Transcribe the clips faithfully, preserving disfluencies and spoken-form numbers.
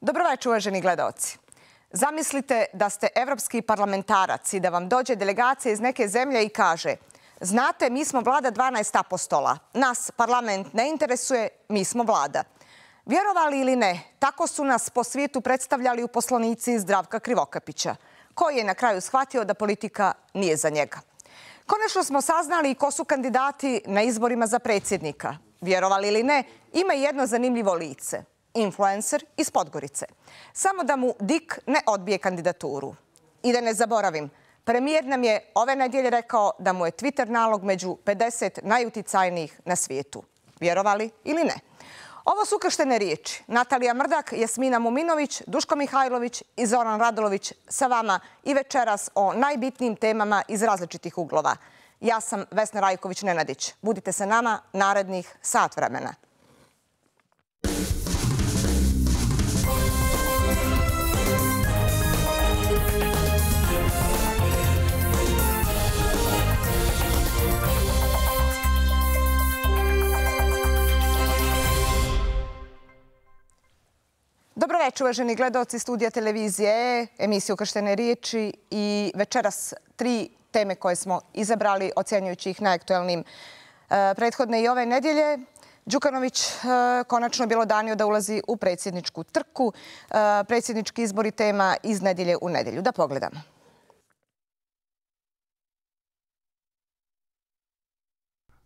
Dobroveče, uvaženi gledaoci. Zamislite da ste evropski parlamentarac i da vam dođe delegacija iz neke zemlje i kaže: znate, mi smo vlada dvanaest apostola. Nas parlament ne interesuje, mi smo vlada. Vjerovali ili ne, tako su nas po svijetu predstavljali uposlenici Zdravka Krivokapića, koji je na kraju shvatio da politika nije za njega. Konačno smo saznali ko su kandidati na izborima za predsjednika. Vjerovali ili ne, ima jedno zanimljivo lice. Influencer iz Podgorice. Samo da mu Dik ne odbije kandidaturu. I da ne zaboravim, premijer nam je ove nedjelje rekao da mu je Twitter nalog među pedeset najuticajnijih na svijetu. Vjerovali ili ne? Ovo su ukrštene riječi. Natalija Mrdak, Jasmina Muminović, Duško Mihajlović i Zoran Radulović sa vama i večeras o najbitnijim temama iz različitih uglova. Ja sam Vesna Rajković-Nenadić. Budite sa nama narednih sat vremena. Dobroveče, uvaženi gledaoci studija televizije, emisiju Ukrštene riječi i večeras tri teme koje smo izabrali, ocjenjujući ih najaktuelnijim prethodne i ove nedjelje. Đukanović konačno bjelodanio da ulazi u predsjedničku trku. Predsjednički izbori tema iz nedjelje u nedjelju. Da pogledamo.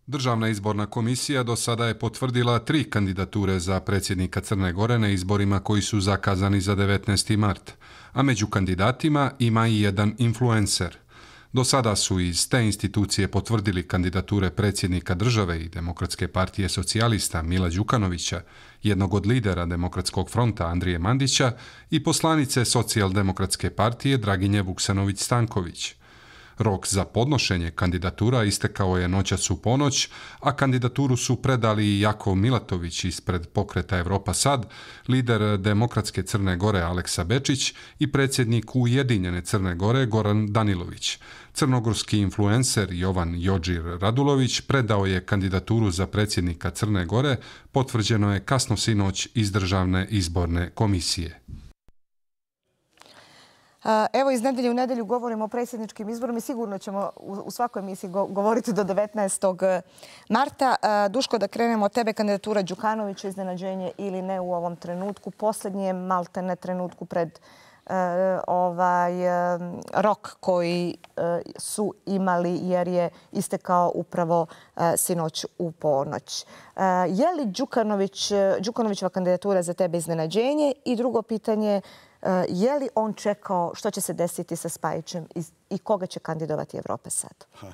Državna izborna komisija do sada je potvrdila tri kandidature za predsjednika Crne Gore na izborima koji su zakazani za devetnaesti mart, a među kandidatima ima i jedan influencer. Do sada su iz te institucije potvrdili kandidature predsjednika države i Demokratske partije socijalista Mila Đukanovića, jednog od lidera Demokratskog fronta Andrije Mandića i poslanice Socijaldemokratske partije Draginje Vuksanović-Stanković. Rok za podnošenje kandidatura istekao je noćas u ponoć, a kandidaturu su predali i Jakov Milatović ispred Pokreta Evropa Sad, lider Demokratske Crne Gore Aleksa Bečić i predsjednik Ujedinjene Crne Gore Goran Danilović. Crnogorski influencer Jovan Jođir Radulović predao je kandidaturu za predsjednika Crne Gore, potvrđeno je kasno sinoć iz Državne izborne komisije. Evo, iz nedelje u nedelju govorimo o predsjedničkim izborima i sigurno ćemo u svakoj emisiji govoriti do devetnaestog marta. Duško, da krenemo od tebe, kandidatura Đukanovića, iznenađenje ili ne u ovom trenutku, posljednjem maltene trenutku pred ovaj rok koji su imali jer je istekao upravo sinoć u ponoć. Je li Đukanović, Đukanovićeva kandidatura za tebe iznenađenje? I drugo pitanje, je li on čekao što će se desiti sa Spajićem i koga će kandidovati Evropa Sad? Ha,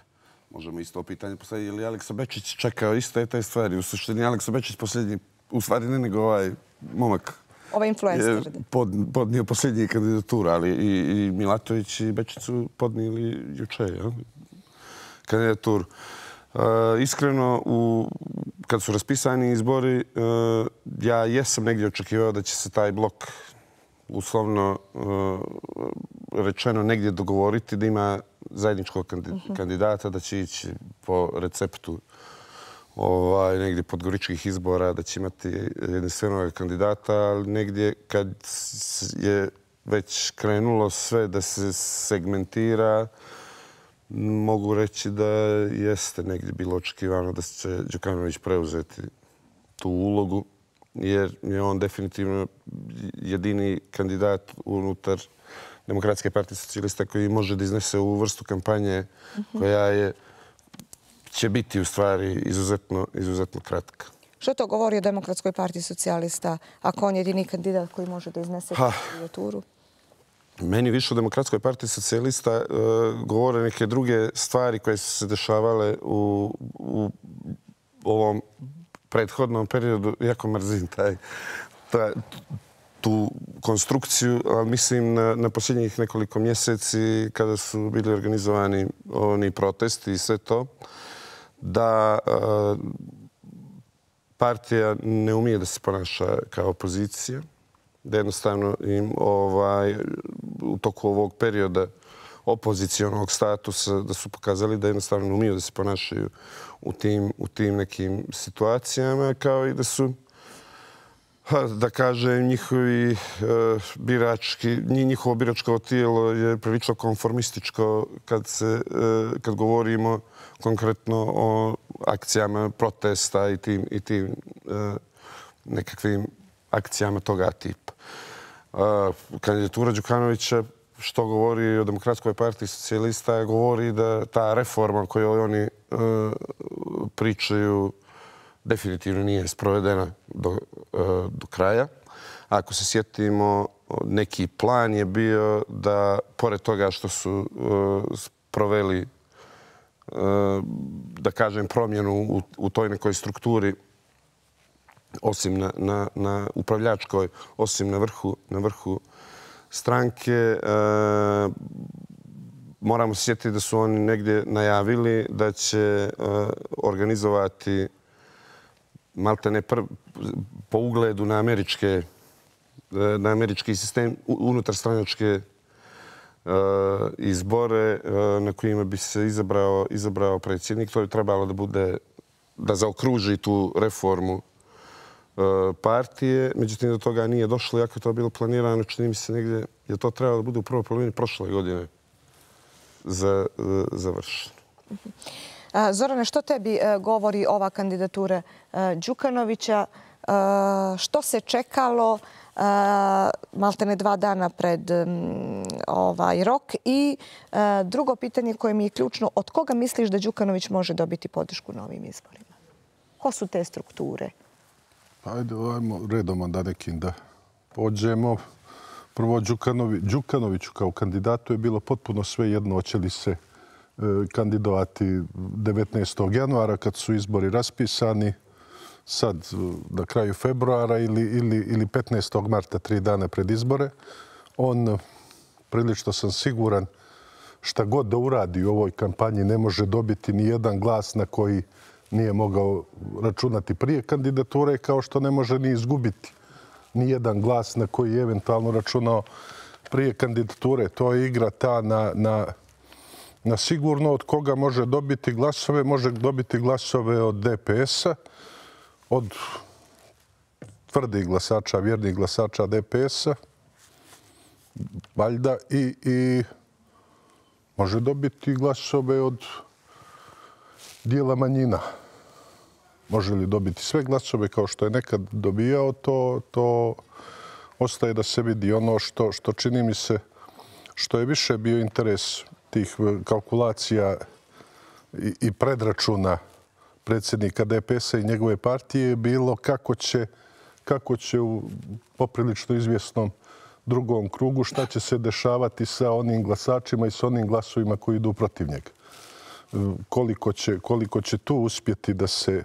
možemo isto pitanje postaviti. Je li Aleksa Bečić čekao iste te stvari? U suštini Aleksa Bečić posljednji, u stvari ne nego ovaj momak ovaj influencer je pod, podnio posljednji kandidatura, ali i, i Milatović i Bečić su podnijeli juče ja, kandidaturu. Uh, iskreno, u, kad su raspisani izbori, uh, ja jesam negdje očekivao da će se taj blok uslovno uh, rečeno negdje dogovoriti, da ima zajedničkog kandidata, da će ići po receptu ovaj, negdje podgoričkih izbora, da će imati jedinstvenog kandidata, ali negdje kad je već krenulo sve da se segmentira, mogu reći da jeste negdje bilo očekivano da će Đukanović preuzeti tu ulogu, jer je on definitivno jedini kandidat unutar Demokratske partije socijalista koji može da iznese ovu vrstu kampanje koja je, će biti u stvari izuzetno, izuzetno kratka. Što to govori o Demokratskoj partiji socijalista ako on je jedini kandidat koji može da iznese kandidaturu? Meni više o Demokratskoj partiji socijalista uh, govore neke druge stvari koje su se dešavale u, u ovom prethodnom periodu. Jako mrzim taj, taj, tu konstrukciju, ali mislim na, na posljednjih nekoliko mjeseci kada su bili organizovani oni protesti i sve to, da uh, partija ne umije da se ponaša kao opozicija, da jednostavno im ovaj, u toku ovog perioda opozicionog statusa da su pokazali da jednostavno umiju da se ponašaju u tim, u tim nekim situacijama, kao i da su Da kažem, njihovi birački, njihovo biračko tijelo je prilično konformističko kad, se, kad govorimo konkretno o akcijama protesta i tim, i tim nekakvim akcijama toga tipa. Kandidatura Đukanovića, što govori o Demokratskoj partiji socijalista, govori da ta reforma koju oni pričaju definitivno nije sprovedena do, do kraja. Ako se sjetimo, neki plan je bio da, pored toga što su proveli, da kažem, promjenu u, u toj nekoj strukturi, osim na, na, na upravljačkoj, osim na vrhu, na vrhu stranke, moramo se sjetiti da su oni negdje najavili da će organizovati maltene po ugledu na američke, na američki sistem, unutarstranačke izbore na kojima bi se izabrao, izabrao predsjednik. To je trebalo da bude, da zaokruži tu reformu partije. Međutim, do toga nije došlo, iako je to bilo planirano. Čini mi se negdje je to trebalo da bude u prvoj polovini prošle godine za, završeno. Zorane, što tebi govori ova kandidatura Đukanovića? Što se čekalo maltene dva dana pred ovaj rok? I drugo pitanje koje mi je ključno, od koga misliš da Đukanović može dobiti podršku na ovim izborima? Ko su te strukture? Ajde, ajmo redom da nekim da pođemo. Prvo, Đukanovi, Đukanoviću kao kandidatu je bilo potpuno sve jedno hoće li se kandidovati devetnaestog januara kad su izbori raspisani, sad na kraju februara ili, ili, ili petnaestog marta, tri dana pred izbore. On, prilično sam siguran, šta god da uradi u ovoj kampanji ne može dobiti ni jedan glas na koji nije mogao računati prije kandidature, kao što ne može ni izgubiti ni jedan glas na koji je eventualno računao prije kandidature. To je igra ta na, na, na sigurno od koga može dobiti glasove. Može dobiti glasove od D P S-a, od tvrdih glasača, vjernih glasača D P S-a, valjda, i, i može dobiti glasove od dijela manjina. Može li dobiti sve glasove kao što je nekad dobijao, to, to ostaje da se vidi. Ono što, što čini mi se, što je više bio interes tih kalkulacija i, i predračuna predsjednika D P S-a i njegove partije je bilo kako će, kako će u poprilično izvjesnom drugom krugu, šta će se dešavati sa onim glasačima i sa onim glasovima koji idu protiv njega. Koliko će, koliko će tu uspjeti da se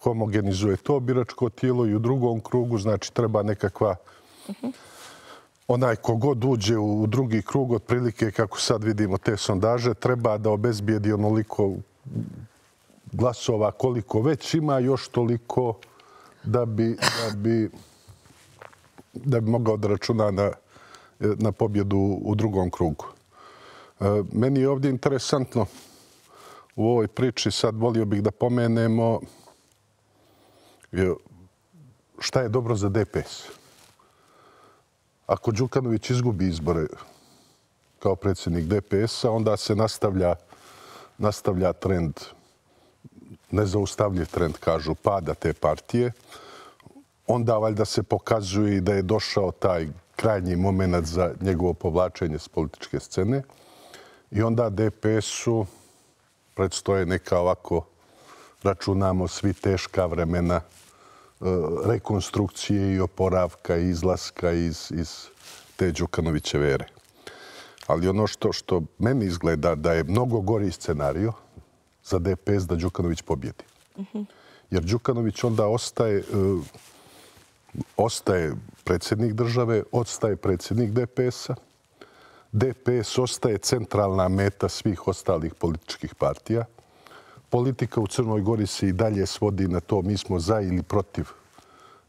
homogenizuje to biračko tijelo i u drugom krugu, znači treba nekakva, onaj kogod uđe u drugi krug, otprilike kako sad vidimo te sondaže, treba da obezbijedi onoliko glasova koliko već ima, još toliko da bi, da bi, da bi mogao da računa na, na pobjedu u drugom krugu. Meni je ovdje interesantno u ovoj priči, sad volio bih da pomenemo šta je dobro za D P S. Ako Đukanović izgubi izbore kao predsjednik D P S-a, onda se nastavlja, nastavlja trend, nezaustavljiv trend, kažu, pada te partije. Onda valjda se pokazuje i da je došao taj krajnji moment za njegovo povlačenje s političke scene. I onda D P S-u predstoje neka ovako, računamo svi, teška vremena rekonstrukcije i oporavka i izlaska iz, iz te Đukanovićeve ere. Ali ono što, što meni izgleda da je mnogo gori scenario za D P S da Đukanović pobjedi. Mm-hmm. Jer Đukanović onda ostaje, uh, ostaje predsjednik države, ostaje predsjednik D P S-a. D P S ostaje centralna meta svih ostalih političkih partija. Politika u Crnoj Gori se i dalje svodi na to mi smo za ili protiv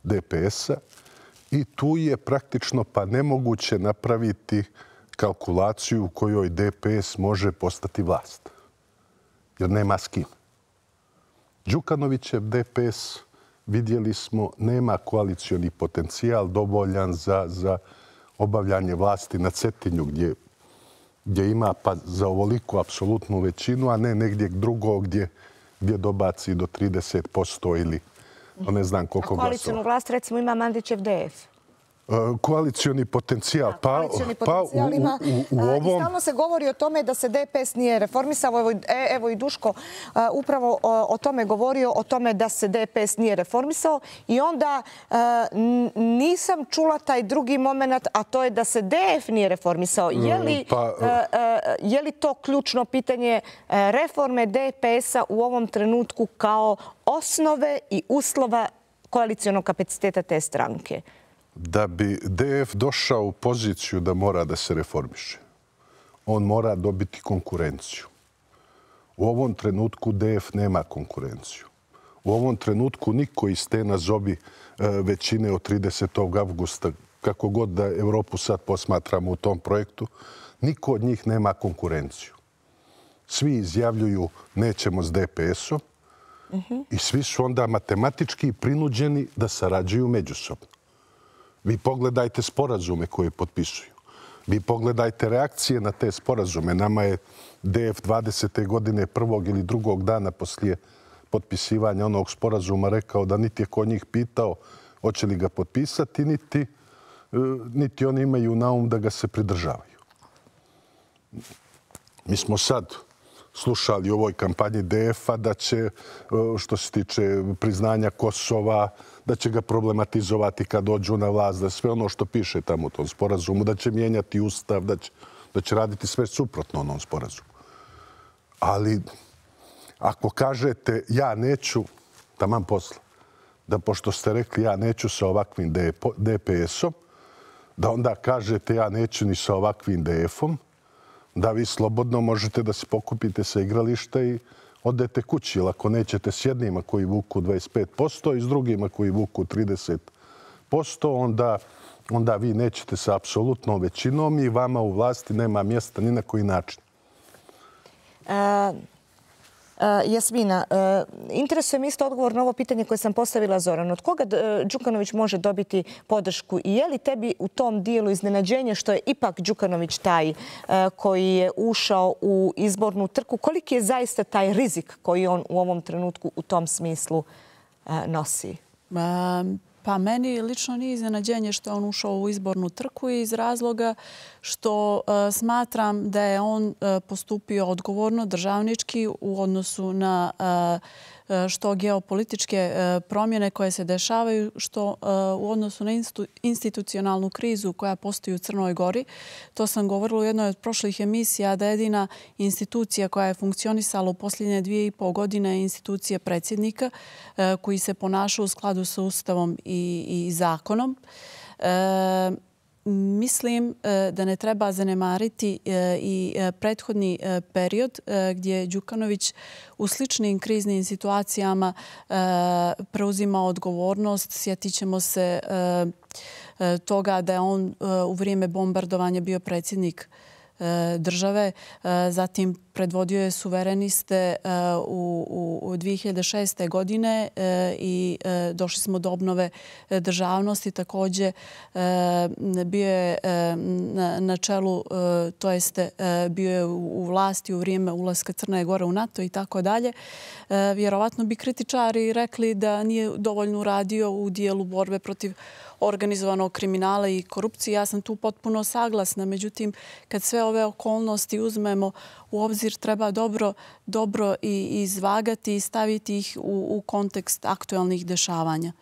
D P S-a i tu je praktično pa nemoguće napraviti kalkulaciju u kojoj D P S može postati vlast. Jer nema s kim. Đukanovićev D P S vidjeli smo, nema koalicioni potencijal dovoljan za, za obavljanje vlasti na Cetinju, gdje, gdje ima pa za ovoliku apsolutnu većinu, a ne negdje drugo gdje, gdje dobaci do trideset posto ili ne znam koliko glasova. A koalicionu vlast, recimo, ima Mandićev D F. Koalicioni potencijal. Da, koalicioni pa, potencijal pa ima. U, u, u ovom... I stalno se govori o tome da se D P S nije reformisao. Evo, evo i Duško upravo o, o tome govorio, o tome da se D P S nije reformisao. I onda nisam čula taj drugi moment, a to je da se D F nije reformisao. Je li, pa, je li to ključno pitanje reforme D P S-a u ovom trenutku kao osnove i uslova koalicijonog kapaciteta te stranke? Da bi D F došao u poziciju da mora da se reformiše, on mora dobiti konkurenciju. U ovom trenutku D F nema konkurenciju. U ovom trenutku niko iz te nazovi većine od tridesetog avgusta, kako god da Evropu sad posmatramo u tom projektu, niko od njih nema konkurenciju. Svi izjavljuju nećemo s D P S-om i svi su onda matematički prinuđeni da sarađuju međusobno. Vi pogledajte sporazume koje potpisuju. Vi pogledajte reakcije na te sporazume. Nama je D F dvadesete godine prvog ili drugog dana poslije potpisivanja onog sporazuma rekao da niti je ko njih pitao hoće li ga potpisati, niti, niti oni imaju na um da ga se pridržavaju. Mi smo sad slušali u ovoj kampanji D F-a da će, što se tiče priznanja Kosova, da će ga problematizovati kad dođu na vlast, da sve ono što piše tamo u tom sporazumu, da će mijenjati ustav, da će, da će raditi sve suprotno onom sporazumu. Ali ako kažete ja neću, taman posla, da pošto ste rekli ja neću sa ovakvim D P S-om, da onda kažete ja neću ni sa ovakvim D F-om, da vi slobodno možete da se pokupite sa igrališta i odete kući. Ili ako nećete s jednima koji vuku dvadeset pet posto i s drugima koji vuku trideset posto, onda, onda vi nećete sa apsolutnom većinom i vama u vlasti nema mjesta ni na koji način. A... Uh, Jasmina, uh, interesuje mi isto odgovor na ovo pitanje koje sam postavila Zoranu. Od koga uh, Đukanović može dobiti podršku i je li tebi u tom dijelu iznenađenje što je ipak Đukanović taj uh, koji je ušao u izbornu trku? Koliki je zaista taj rizik koji on u ovom trenutku u tom smislu uh, nosi? Um. Pa meni lično nije iznenađenje što je on ušao u izbornu trku iz razloga što uh, smatram da je on uh, postupio odgovorno, državnički u odnosu na uh, što geopolitičke promjene koje se dešavaju, što u odnosu na institucionalnu krizu koja postoji u Crnoj Gori. To sam govorila u jednoj od prošlih emisija da jedina institucija koja je funkcionisala u posljednje dvije i pol godine je institucija predsjednika koji se ponaša u skladu sa Ustavom i, i zakonom. E, Mislim da ne treba zanemariti i prethodni period gdje je Đukanović u sličnim kriznim situacijama preuzimao odgovornost. Sjetit ćemo se toga da je on u vrijeme bombardovanja bio predsjednik države. Zatim predvodio je suvereniste u, u dvije hiljade šeste. godine i došli smo do obnove državnosti. Također bio je na, na čelu, to jeste bio je u vlasti u vrijeme ulaska Crne Gore u NATO i tako dalje. Vjerovatno bi kritičari rekli da nije dovoljno uradio u dijelu borbe protiv organizovanog kriminala i korupcije. Ja sam tu potpuno saglasna. Međutim, kad sve ove okolnosti uzmemo u obzir, treba dobro, dobro i izvagati i staviti ih u, u kontekst aktualnih dešavanja.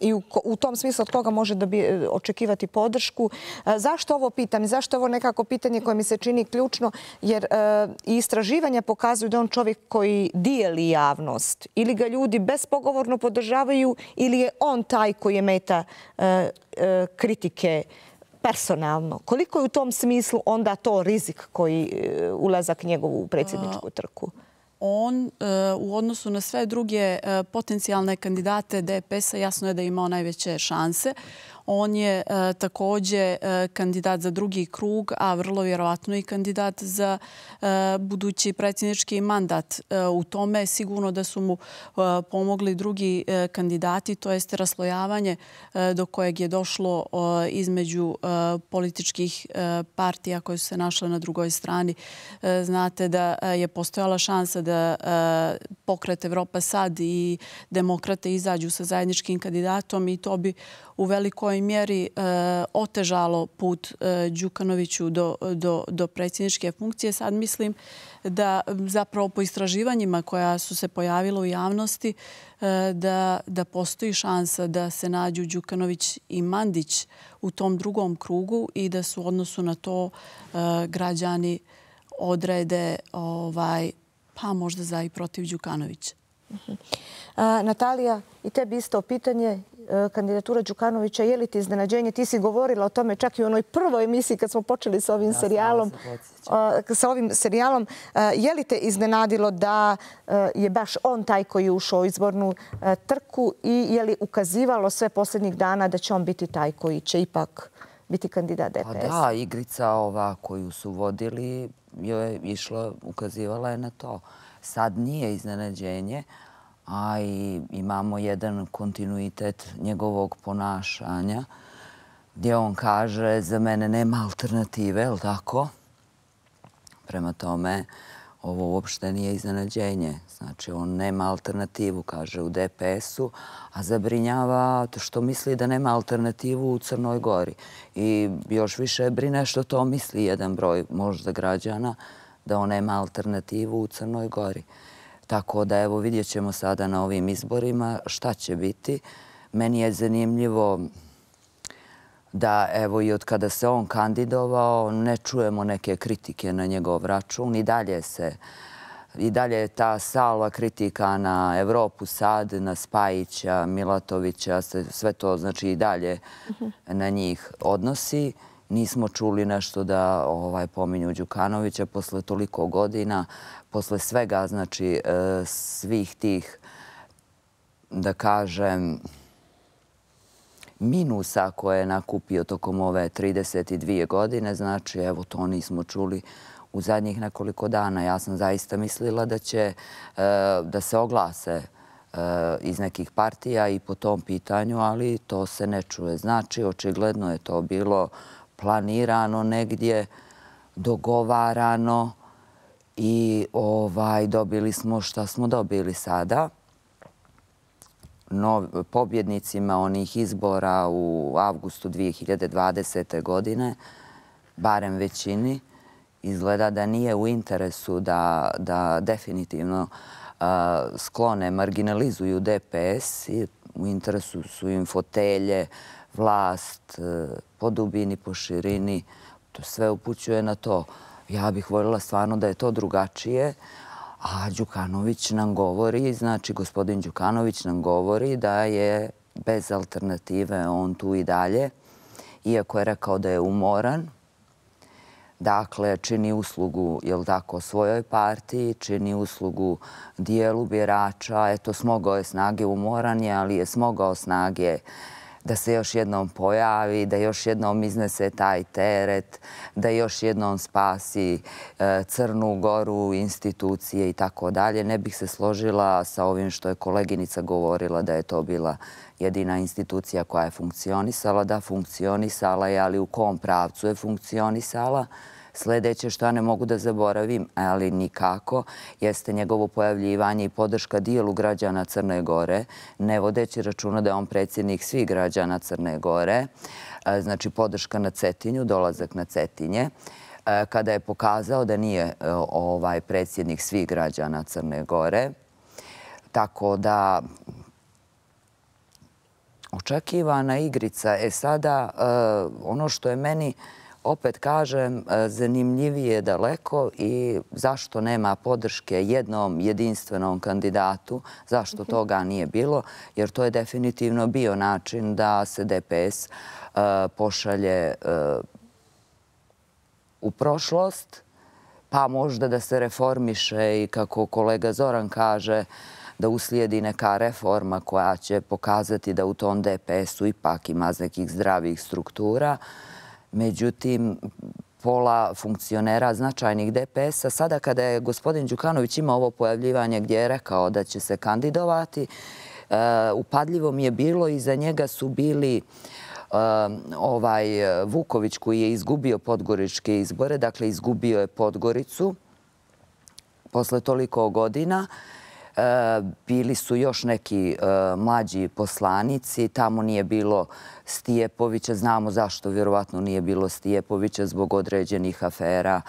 I u, u tom smislu od koga može da bi očekivati podršku. Zašto ovo pitam? Zašto ovo nekako pitanje koje mi se čini ključno? Jer e, istraživanja pokazuju da on čovjek koji dijeli javnost. Ili ga ljudi bespogovorno podržavaju ili je on taj koji je meta e, e, kritike personalno. Koliko je u tom smislu onda to rizik koji e, ulazak njegovu u predsjedničku trku? On u odnosu na sve druge potencijalne kandidate D P S-a jasno je da je imao najveće šanse. On je također kandidat za drugi krug, a vrlo vjerovatno i kandidat za budući predsjednički mandat. U tome sigurno da su mu pomogli drugi kandidati, to jest raslojavanje do kojeg je došlo između političkih partija koje su se našle na drugoj strani. Znate da je postojala šansa da Pokret Evropa sad i Demokrate izađu sa zajedničkim kandidatom i to bi u velikoj mjeri otežalo put Đukanoviću do predsjedničke funkcije. Sad mislim da zapravo po istraživanjima koja su se pojavila u javnosti da postoji šansa da se nađu Đukanović i Mandić u tom drugom krugu i da su u odnosu na to građani odrede pa možda za i protiv Đukanovića. Natalija, i tebi isto pitanje. Kandidatura Đukanovića, je li ti iznenađenje? Ti si govorila o tome čak i u onoj prvoj emisiji kad smo počeli sa ovim serijalom. Sa ovim serijalom. Je li te iznenadilo da je baš on taj koji je ušao u izbornu trku i je li ukazivalo sve posljednjih dana da će on biti taj koji će ipak biti kandidat D P S? Pa da, igrica ova koju su vodili je išla, ukazivala je na to. Sad nije iznenađenje, a i imamo jedan kontinuitet njegovog ponašanja gdje on kaže za mene nema alternative, je li tako? Prema tome, ovo uopšte nije iznenađenje. Znači, on nema alternativu, kaže, u D P S-u, a zabrinjava što misli da nema alternativu u Crnoj Gori. I još više brine što to misli jedan broj možda građana, da on nema alternativu u Crnoj Gori. Tako da, evo, vidjet ćemo sada na ovim izborima šta će biti. Meni je zanimljivo da, evo, i od kada se on kandidovao, ne čujemo neke kritike na njegov račun. I dalje se, i dalje je ta salva kritika na Evropu sad, na Spajića, Milatovića, sve to, znači, i dalje na njih odnosi. Nismo čuli nešto da pominju Đukanovića posle toliko godina, posle svega, znači, svih tih, da kažem, minusa koje je nakupio tokom ove trideset dvije godine. Znači, evo, to nismo čuli u zadnjih nekoliko dana. Ja sam zaista mislila da će da se oglase iz nekih partija i po tom pitanju, ali to se ne čuje. Znači, očigledno je to bilo planirano negdje, dogovarano i dobili smo šta smo dobili sada. Pobjednicima onih izbora u avgustu dvije hiljade dvadesete. godine, barem većini, izgleda da nije u interesu da definitivno sklone, marginalizuju D P S. U interesu su im fotelje, vlast, po dubini, po širini. To sve upućuje na to. Ja bih voljela stvarno da je to drugačije. A Đukanović nam govori, znači gospodin Đukanović nam govori da je bez alternative on tu i dalje. Iako je rekao da je umoran. Dakle, čini uslugu, jel tako, svojoj partiji, čini uslugu dijelu birača. Eto, smogao je snage, umoran je, ali je smogao snage da se još jednom pojavi, da još jednom iznese taj teret, da još jednom spasi Crnu Goru, institucije i tako dalje. Ne bih se složila sa ovim što je koleginica govorila da je to bila jedina institucija koja je funkcionisala. Da, funkcionisala je, ali u kom pravcu je funkcionisala? Sljedeće što ne mogu da zaboravim, ali nikako, jeste njegovo pojavljivanje i podrška dijelu građana Crne Gore, ne vodeći računa da je on predsjednik svih građana Crne Gore, znači podrška na Cetinju, dolazak na Cetinje, kada je pokazao da nije predsjednik svih građana Crne Gore. Tako da očekivana igrica je sada ono što je meni, opet kažem, zanimljivije daleko i zašto nema podrške jednom jedinstvenom kandidatu, zašto toga nije bilo, jer to je definitivno bio način da se D P S pošalje u prošlost, pa možda da se reformiše i kako kolega Zoran kaže, da uslijedi neka reforma koja će pokazati da u tom D P S-u ipak ima nekih zdravih struktura. Međutim, pola funkcionera značajnih D P S-a, sada kada je gospodin Đukanović imao ovo pojavljivanje gdje je rekao da će se kandidovati, upadljivo mi je bilo i za njega su bili ovaj Vuković koji je izgubio podgoričke izbore, dakle izgubio je Podgoricu posle toliko godina. Bili su još neki mlađi poslanici, tamo nije bilo Stijepovića, znamo zašto vjerovatno nije bilo Stijepovića zbog određenih afera,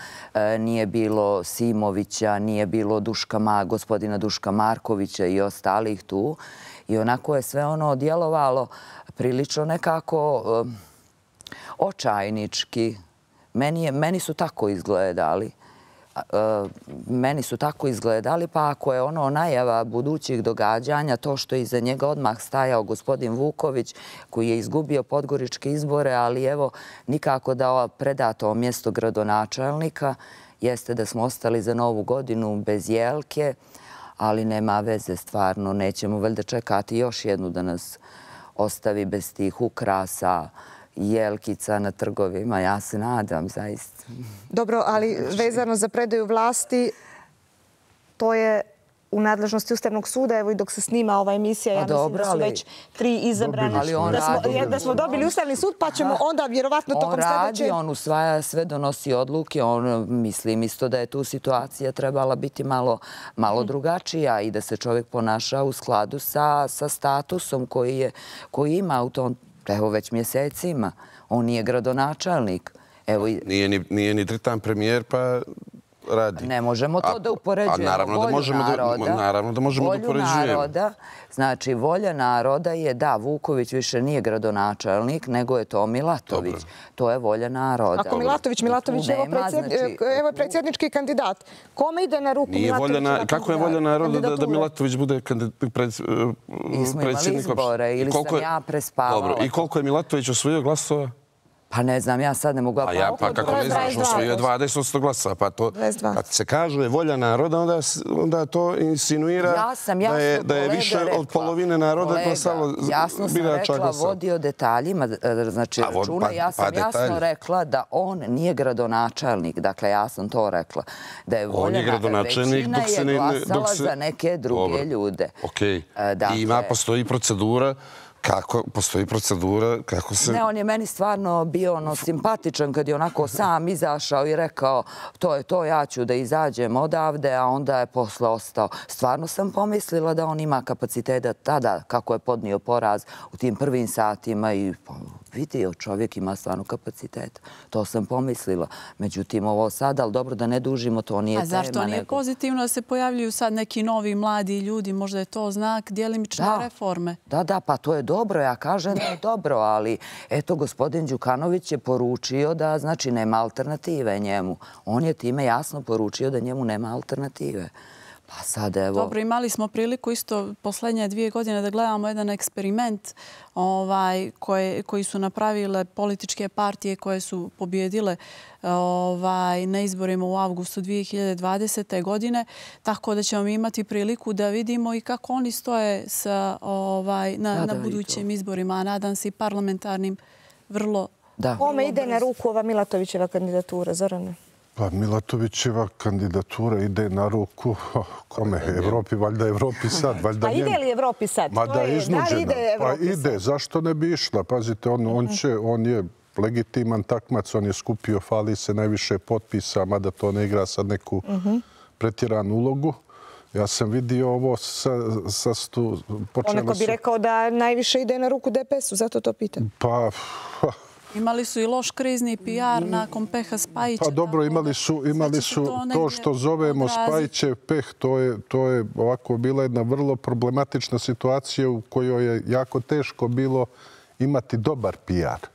nije bilo Simovića, nije bilo Duška, gospodina Duška Markovića i ostalih tu. I onako je sve ono djelovalo prilično nekako očajnički. Meni, je, meni su tako izgledali. Meni su tako izgledali, pa ako je ono najava budućih događanja, to što je iza njega odmah stajao gospodin Vuković, koji je izgubio podgoričke izbore, ali evo nikako da preda to mjesto gradonačelnika, jeste da smo ostali za Novu godinu bez Jelke, ali nema veze stvarno. Nećemo valjda čekati još jednu da nas ostavi bez tih ukrasa, jelkica na trgovima. Ja se nadam, zaista. Dobro, ali vezano za predaju vlasti, to je u nadležnosti Ustavnog suda. Evo i dok se snima ova emisija, ja mislim da su već tri izabrani. Da smo dobili Ustavni sud, pa ćemo onda vjerovatno tokom sljedeće... On radi, on usvaja sve, donosi odluke. On, mislim isto da je tu situacija trebala biti malo, malo drugačija i da se čovjek ponaša u skladu sa, sa statusom koji, je, koji ima u tom, evo već mjesecima. On nije gradonačelnik. Evo, nije, ni, nije ni tretan premijer, pa... radi. Ne možemo to a, da upoređujemo. Naravno da možemo naroda, da, naravno da možemo da upoređujemo. Naroda, znači, volja naroda je da Vuković više nije gradonačelnik, nego je to Milatović. Dobro. To je volja naroda. Ako Milatović, Milatović je evo predsjednički kandidat. Kome ide na ruku Milatović? Na, kako je volja naroda da, da Milatović bude kandidat, pred, Nismo imali izbore ili sam ja prespavala. Dobro, i koliko je Milatović osvojio glasova? Pa ne znam, ja sad ne mogu... A ja, pa kako ne znaš, osvojio dvadeset posto glasa. Pa to, kad se kaže volja naroda, onda, onda to insinuira ja sam da je, da je više rekla, od polovine naroda glasalo birača glasa. Jasno sam rekla, vodio detaljima, znači A, računa, pa, ja sam pa jasno detalj. rekla da on nije gradonačelnik. Dakle, ja sam to rekla. Da je volja je gradonačelnik dok se ne... Dok se... za neke druge Dobre. ljude. Okej. Okay. Dakle, I ima, postoji procedura kako postoji procedura, kako se... Ne, on je meni stvarno bio ono simpatičan kad je onako sam izašao i rekao to je to, ja ću da izađem odavde, a onda je posle ostao. Stvarno sam pomislila da on ima kapaciteta tada kako je podnio poraz u tim prvim satima i vidio čovjek ima stvarno kapacitet. To sam pomislila. Međutim, ovo sad, ali dobro da ne dužimo, to nije tema. A zašto nije nego... pozitivno da se pojavljuju sad neki novi mladi ljudi? Možda je to znak djelimične da. reforme. Da, da, pa to je dobro. Ja kažem da je dobro, ali eto, gospodin Đukanović je poručio da znači nema alternative njemu. On je time jasno poručio da njemu nema alternative. Pa sad evo... Dobro, imali smo priliku isto posljednje dvije godine da gledamo jedan eksperiment ovaj, koje, koji su napravile političke partije koje su pobjedile ovaj, na izborima u avgustu dvije hiljade dvadesete. godine. Tako da ćemo imati priliku da vidimo i kako oni stoje sa, ovaj, na, da, na budućim izborima, a nadam se i parlamentarnim vrlo... Da. Kome ide na ruku ova Milatovićeva kandidatura, Zorane? Pa Milatovićeva kandidatura ide na ruku kome? Evropi, valjda Evropi sad. Valjda pa ide li Evropi sad? Ma da je iznuđena. Pa ide, zašto ne bi išla? Pazite, on, on, će, on je legitiman takmac, on je skupio, fali se najviše potpisa, mada to ne igra sad neku pretjeranu ulogu. Ja sam vidio ovo sa, sa stu... Onako bi rekao da najviše ide na ruku D P S-u, zato to pitam. Pa... Imali su i loš krizni P R nakon peha Spajića. Pa dobro, imali su, imali su to što zovemo Spajićev peh. To je, to je ovako bila jedna vrlo problematična situacija u kojoj je jako teško bilo imati dobar P R.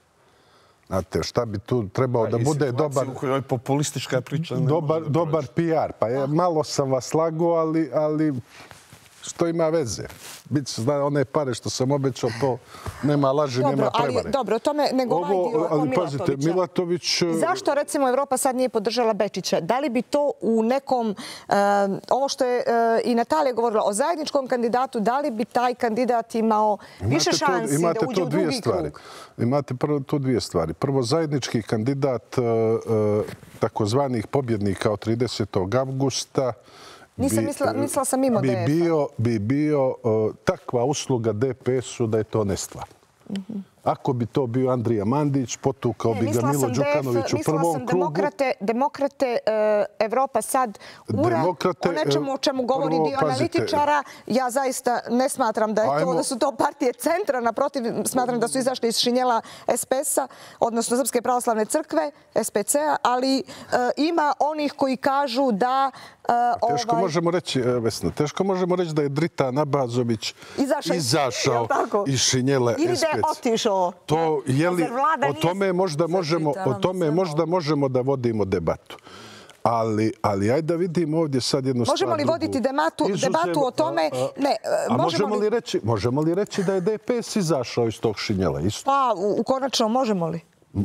Znate, šta bi tu trebao da bude dobar... U kojoj je populistička priča. Dobar, dobar P R. Pa je, malo sam vas lagao, ali... ali Što ima veze? Biće, zna, one pare što sam obećao, to nema laži, dobro, nema prevare. Ali, dobro, o tome nego ovaj dio oko ali, pazite, Milatovića. Milatović... Zašto, recimo, Evropa sad nije podržala Bečića? Da li bi to u nekom, uh, ovo što je uh, i Natalija govorila o zajedničkom kandidatu, da li bi taj kandidat imao imate više šansi to, da uđe u drugi stvari. krug? Imate prvo tu dvije stvari. Prvo, zajednički kandidat uh, uh, takozvanih pobjednika od tridesetog avgusta Nisam mislila, mislila sam mimo bi D F-a. bio, bi bio uh, takva usluga D P S-u da je to nestvarno. Mm-hmm. Ako bi to bio Andrija Mandić, potukao ne, bi ga Milo Đukanović u prvom sam krugu. Demokrate, demokrate uh, Evropa sad ura demokrate, o nečemu o čemu govori prvo, dio analitičara. Ja zaista ne smatram da, je to, da su to partije centra. Naprotiv, smatram da su izašli iz šinjela S P S-a, odnosno Srpske pravoslavne crkve, S P C-a, ali uh, ima onih koji kažu da... Uh, teško ovaj... možemo reći, Vesna, teško možemo reći da je Dritan Abazović izašao, izašao iz šinjela S P C. Ili da je otišao. To je li, o tome možda možemo, o tome možda možemo da vodimo debatu. Ali, ali ajde da vidimo ovdje sad jednu stvar. Možemo li voditi debatu, Izuzev, debatu o tome? A, a, ne, a možemo li... li reći, možemo li reći da je D P S izašao iz tog šinjela? Isto? Pa, u, u konačno možemo li?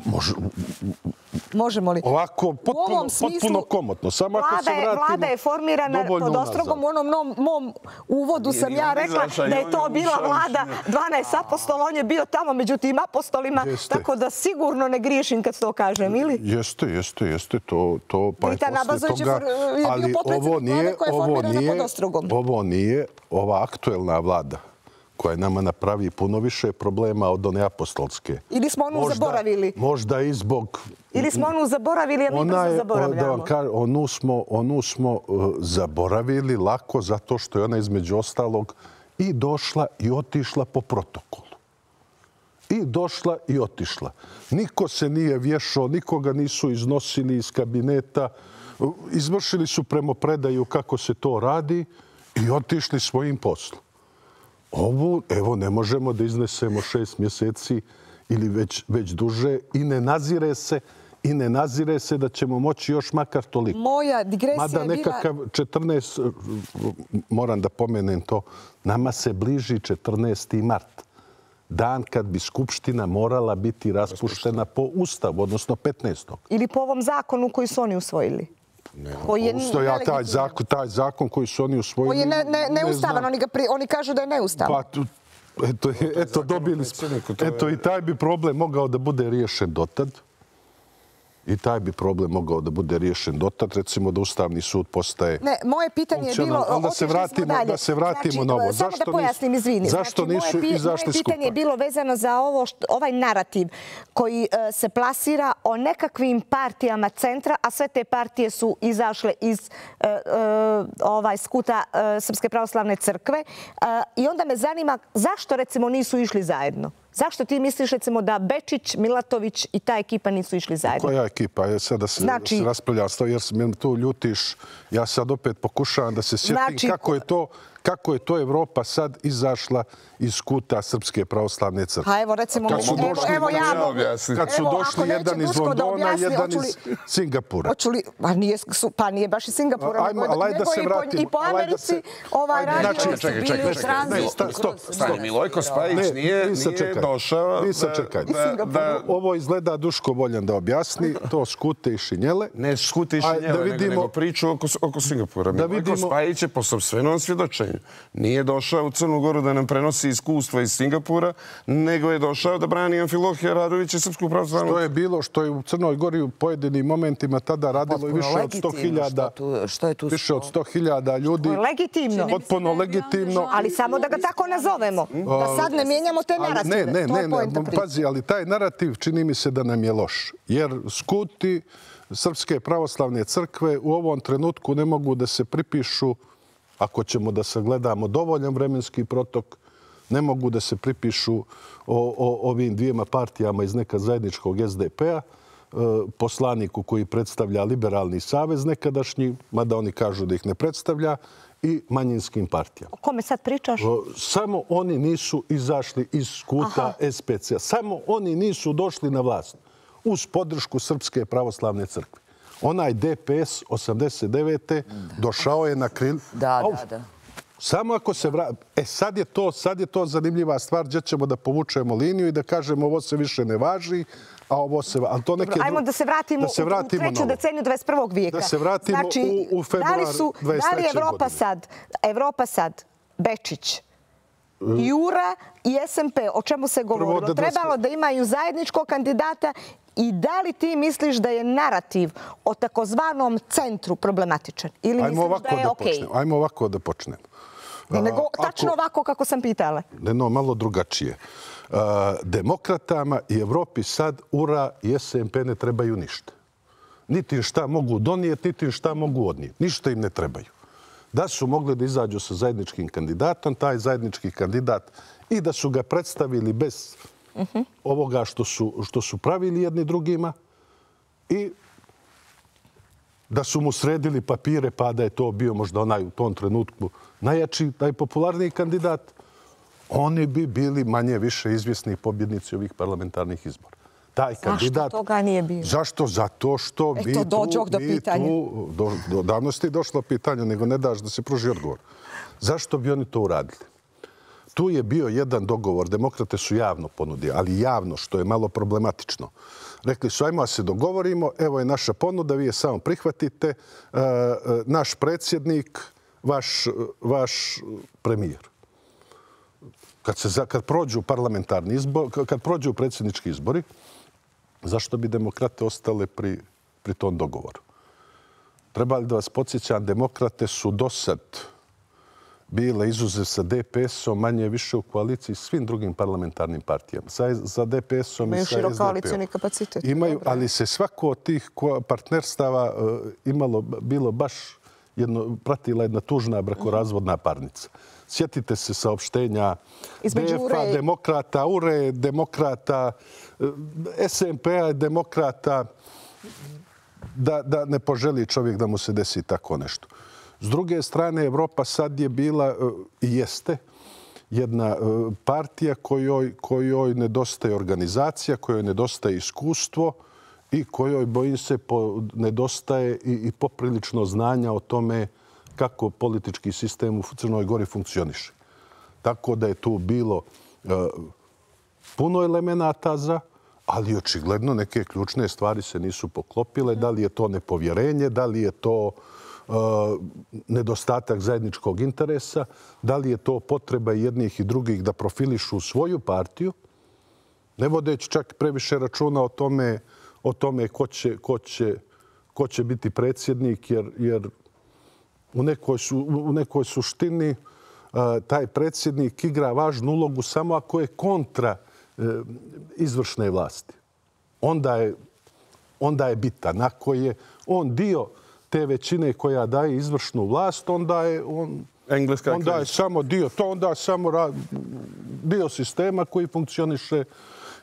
Može, možemo li? Ovako, potpuno, potpuno komotno. Samo vlada, ako se vratimo, vlada je formirana pod ostrogom. U onom mom, mom uvodu sam ja rekla da je to bila vlada dvanaest apostola. On je bio tamo među tim apostolima. Jeste. Tako da sigurno ne griješim kad to kažem, ili? Jeste, jeste, jeste. To, to, pa je Dritan Abazović je ali bio potpredsjednik vlade koja je formirana pod ostrogom. Ovo nije ova aktuelna vlada koja nama napravi puno više problema od one apostolske. Ili smo onu možda, zaboravili. Možda i zbog... Ili smo onu zaboravili, a mi brzo zaboravljamo. Da vam kažem, onu smo, onu smo uh, zaboravili lako zato što je ona između ostalog i došla i otišla po protokolu. I došla i otišla. Niko se nije vješao, nikoga nisu iznosili iz kabineta. Izvršili su premopredaju kako se to radi i otišli svojim poslom. Ovo, evo, ne možemo da iznesemo šest mjeseci ili već, već duže i ne nazire se i ne nazire se da ćemo moći još makar toliko. Moja digresija Mada nekakav četrnaest, moram da pomenem to, nama se bliži četrnaesti mart. Dan kad bi Skupština morala biti raspuštena po Ustavu, odnosno petnaestog Ili po ovom zakonu koji su oni usvojili. Ne, Ustoja, taj, zakon, taj zakon koji su oni usvojili... Koji je ne, ne, neustavan, ne oni, ga pri, oni kažu da je neustavan. Pa, eto, eto, dobili smo. Eto, i taj bi problem mogao da bude riješen dotad. I taj bi problem mogao da bude riješen dotad. Recimo da Ustavni sud postaje... Ne, moje pitanje je bilo... Onda se vratimo, da se vratimo znači, na ovo. Samo zašto da pojasnim, izvini. Zašto znači, nisu moje, izašli moje skupa? pitanje je bilo vezano za ovo što, ovaj narativ koji uh, se plasira o nekakvim partijama centra, a sve te partije su izašle iz uh, uh, ovaj skuta uh, Srpske pravoslavne crkve. Uh, I onda me zanima zašto, recimo, nisu išli zajedno? Zašto ti misliš, recimo, da Bečić, Milatović i ta ekipa nisu išli zajedno? Koja ekipa? Ja sada se znači, raspravljam s to jer me tu ljutiš. Ja sad opet pokušavam da se sjetim znači, kako je to... Kako je to Evropa sad izašla iz kuta Srpske pravoslavne crkve? Pa evo, recimo, kad su došli, evo, evo ja mogu. Kad su evo, došli jedan iz Londona, jedan iz Singapura. Li, pa, nije, pa nije baš iz Singapura, Ajmo, nego, nego se vratim, i po Americi se, ovaj radio. Znači, čekaj, čekaj, čekaj. Stop, stop. Milojko Spajić nije, nije došao... Da, da, ovo izgleda Duško voljan da objasni. To skute i šinjele. Ne skute i šinjele, nego, nego priču oko, oko Singapura. Milojko Spajić je po sopstvenom svjedočenju nije došao u Crnu Goru da nam prenosi iskustva iz Singapura, nego je došao da brani Amfilohija Radovića i Srpsku pravoslavnu. Što je bilo, što je u Crnoj Gori u pojedinim momentima tada radilo i više od sto hiljada više od sto hiljada ljudi. Legitimno. Potpuno legitimno. Ali samo da ga tako nazovemo. Da sad ne mijenjamo te narative. Ne, ne, ne, pazi, ali taj narativ čini mi se da nam je loš. Jer skuti Srpske pravoslavne crkve u ovom trenutku ne mogu da se pripišu, ako ćemo da sagledamo dovoljan vremenski protok, ne mogu da se pripišu o, o ovim dvijema partijama iz neka zajedničkog S D P-a, poslaniku koji predstavlja Liberalni savez nekadašnji, mada oni kažu da ih ne predstavlja, i manjinskim partijama. O kome sad pričaš? Samo oni nisu izašli iz skuta S P C-a. Samo oni nisu došli na vlast uz podršku Srpske pravoslavne crkve. Onaj D P S osamdeset devete došao je na kril... Da, da, da. Samo ako se vrati... E, sad je, to, sad je to zanimljiva stvar gdje ćemo da povučemo liniju i da kažemo ovo se više ne važi, a ovo se... Ali to neke... Ajmo da se vratimo, da se vratimo u treću deceniju dvadeset prvog vijeka. Da se vratimo znači, u, u februar da li su, dvadeset treće Da li Evropa godine. sad, Evropa sad, Bečić, Jura i S M P, o čemu se govorilo? da Trebalo da imaju zajedničkog kandidata i da li ti misliš da je narativ o takozvanom centru problematičan? Ili Ajmo misliš ovako da je da okej? počnemo. Ajmo ovako da počnemo. Ne, nego A, tačno ako- ovako kako sam pitala. Ne, no, malo drugačije. A, demokratama i Evropi sad U R A i S M P ne trebaju ništa. Niti im šta mogu donijeti, niti im šta mogu odnijeti. Ništa im ne trebaju. Da su mogli da izađu sa zajedničkim kandidatom, taj zajednički kandidat, i da su ga predstavili bez ovoga što su, što su pravili jedni drugima i da su mu sredili papire pa da je to bio možda onaj u tom trenutku najjači, najpopularniji kandidat, oni bi bili manje više izvjesni pobjednici ovih parlamentarnih izbora. Taj kandidat... Zašto toga nije bilo? Zašto? Zato što Eto, vi tu... dođoh do vi pitanja. tu- Do, do, davno ste i došlo pitanje, nego ne daš da se pruži odgovor. Zašto bi oni to uradili? Tu je bio jedan dogovor. Demokrate su javno ponudili, ali javno, što je malo problematično. Rekli su, ajmo da se dogovorimo, evo je naša ponuda, vi je samo prihvatite, e, e, naš predsjednik, vaš, vaš premijer. Kad, se, za- kad prođu parlamentarni izbor, kad prođu predsjednički izbori, zašto bi demokrate ostale pri, pri tom dogovoru? Treba li da vas podsjećam, demokrate su do sad bile izuzev sa D P S-om manje više u koaliciji s svim drugim parlamentarnim partijama. Sa, za D P S-om i Imaju sa širok S D P-om. koalicioni kapacitet. Imaju, ali se svako od tih ko- partnerstava e, imalo, bilo baš jedno, pratila jedna tužna brakorazvodna parnica. Sjetite se saopštenja Između D F-a, U R E i- demokrata, U R E, demokrata, e, S M P-a, demokrata, da, da ne poželi čovjek da mu se desi tako nešto. S druge strane, Evropa sad je bila e, i jeste jedna e, partija kojoj, kojoj nedostaje organizacija, kojoj nedostaje iskustvo i kojoj, bojim se, po, nedostaje i, i poprilično znanja o tome kako politički sistem u Crnoj Gori funkcioniše. Tako da je tu bilo e, puno elemenata za, ali očigledno neke ključne stvari se nisu poklopile. Da li je to nepovjerenje, da li je to uh, nedostatak zajedničkog interesa, da li je to potreba jednih i drugih da profilišu svoju partiju, ne vodeći čak previše računa o tome, o tome ko, će, ko, će, ko će biti predsjednik, jer, jer u, nekoj su, u nekoj suštini uh, taj predsjednik igra važnu ulogu samo ako je kontra izvršne vlasti. Onda je, onda je bitan. Ako je on dio te većine koja daje izvršnu vlast, onda je on, Engleska onda je kriza. samo dio, to onda je samo ra- dio sistema koji funkcioniše.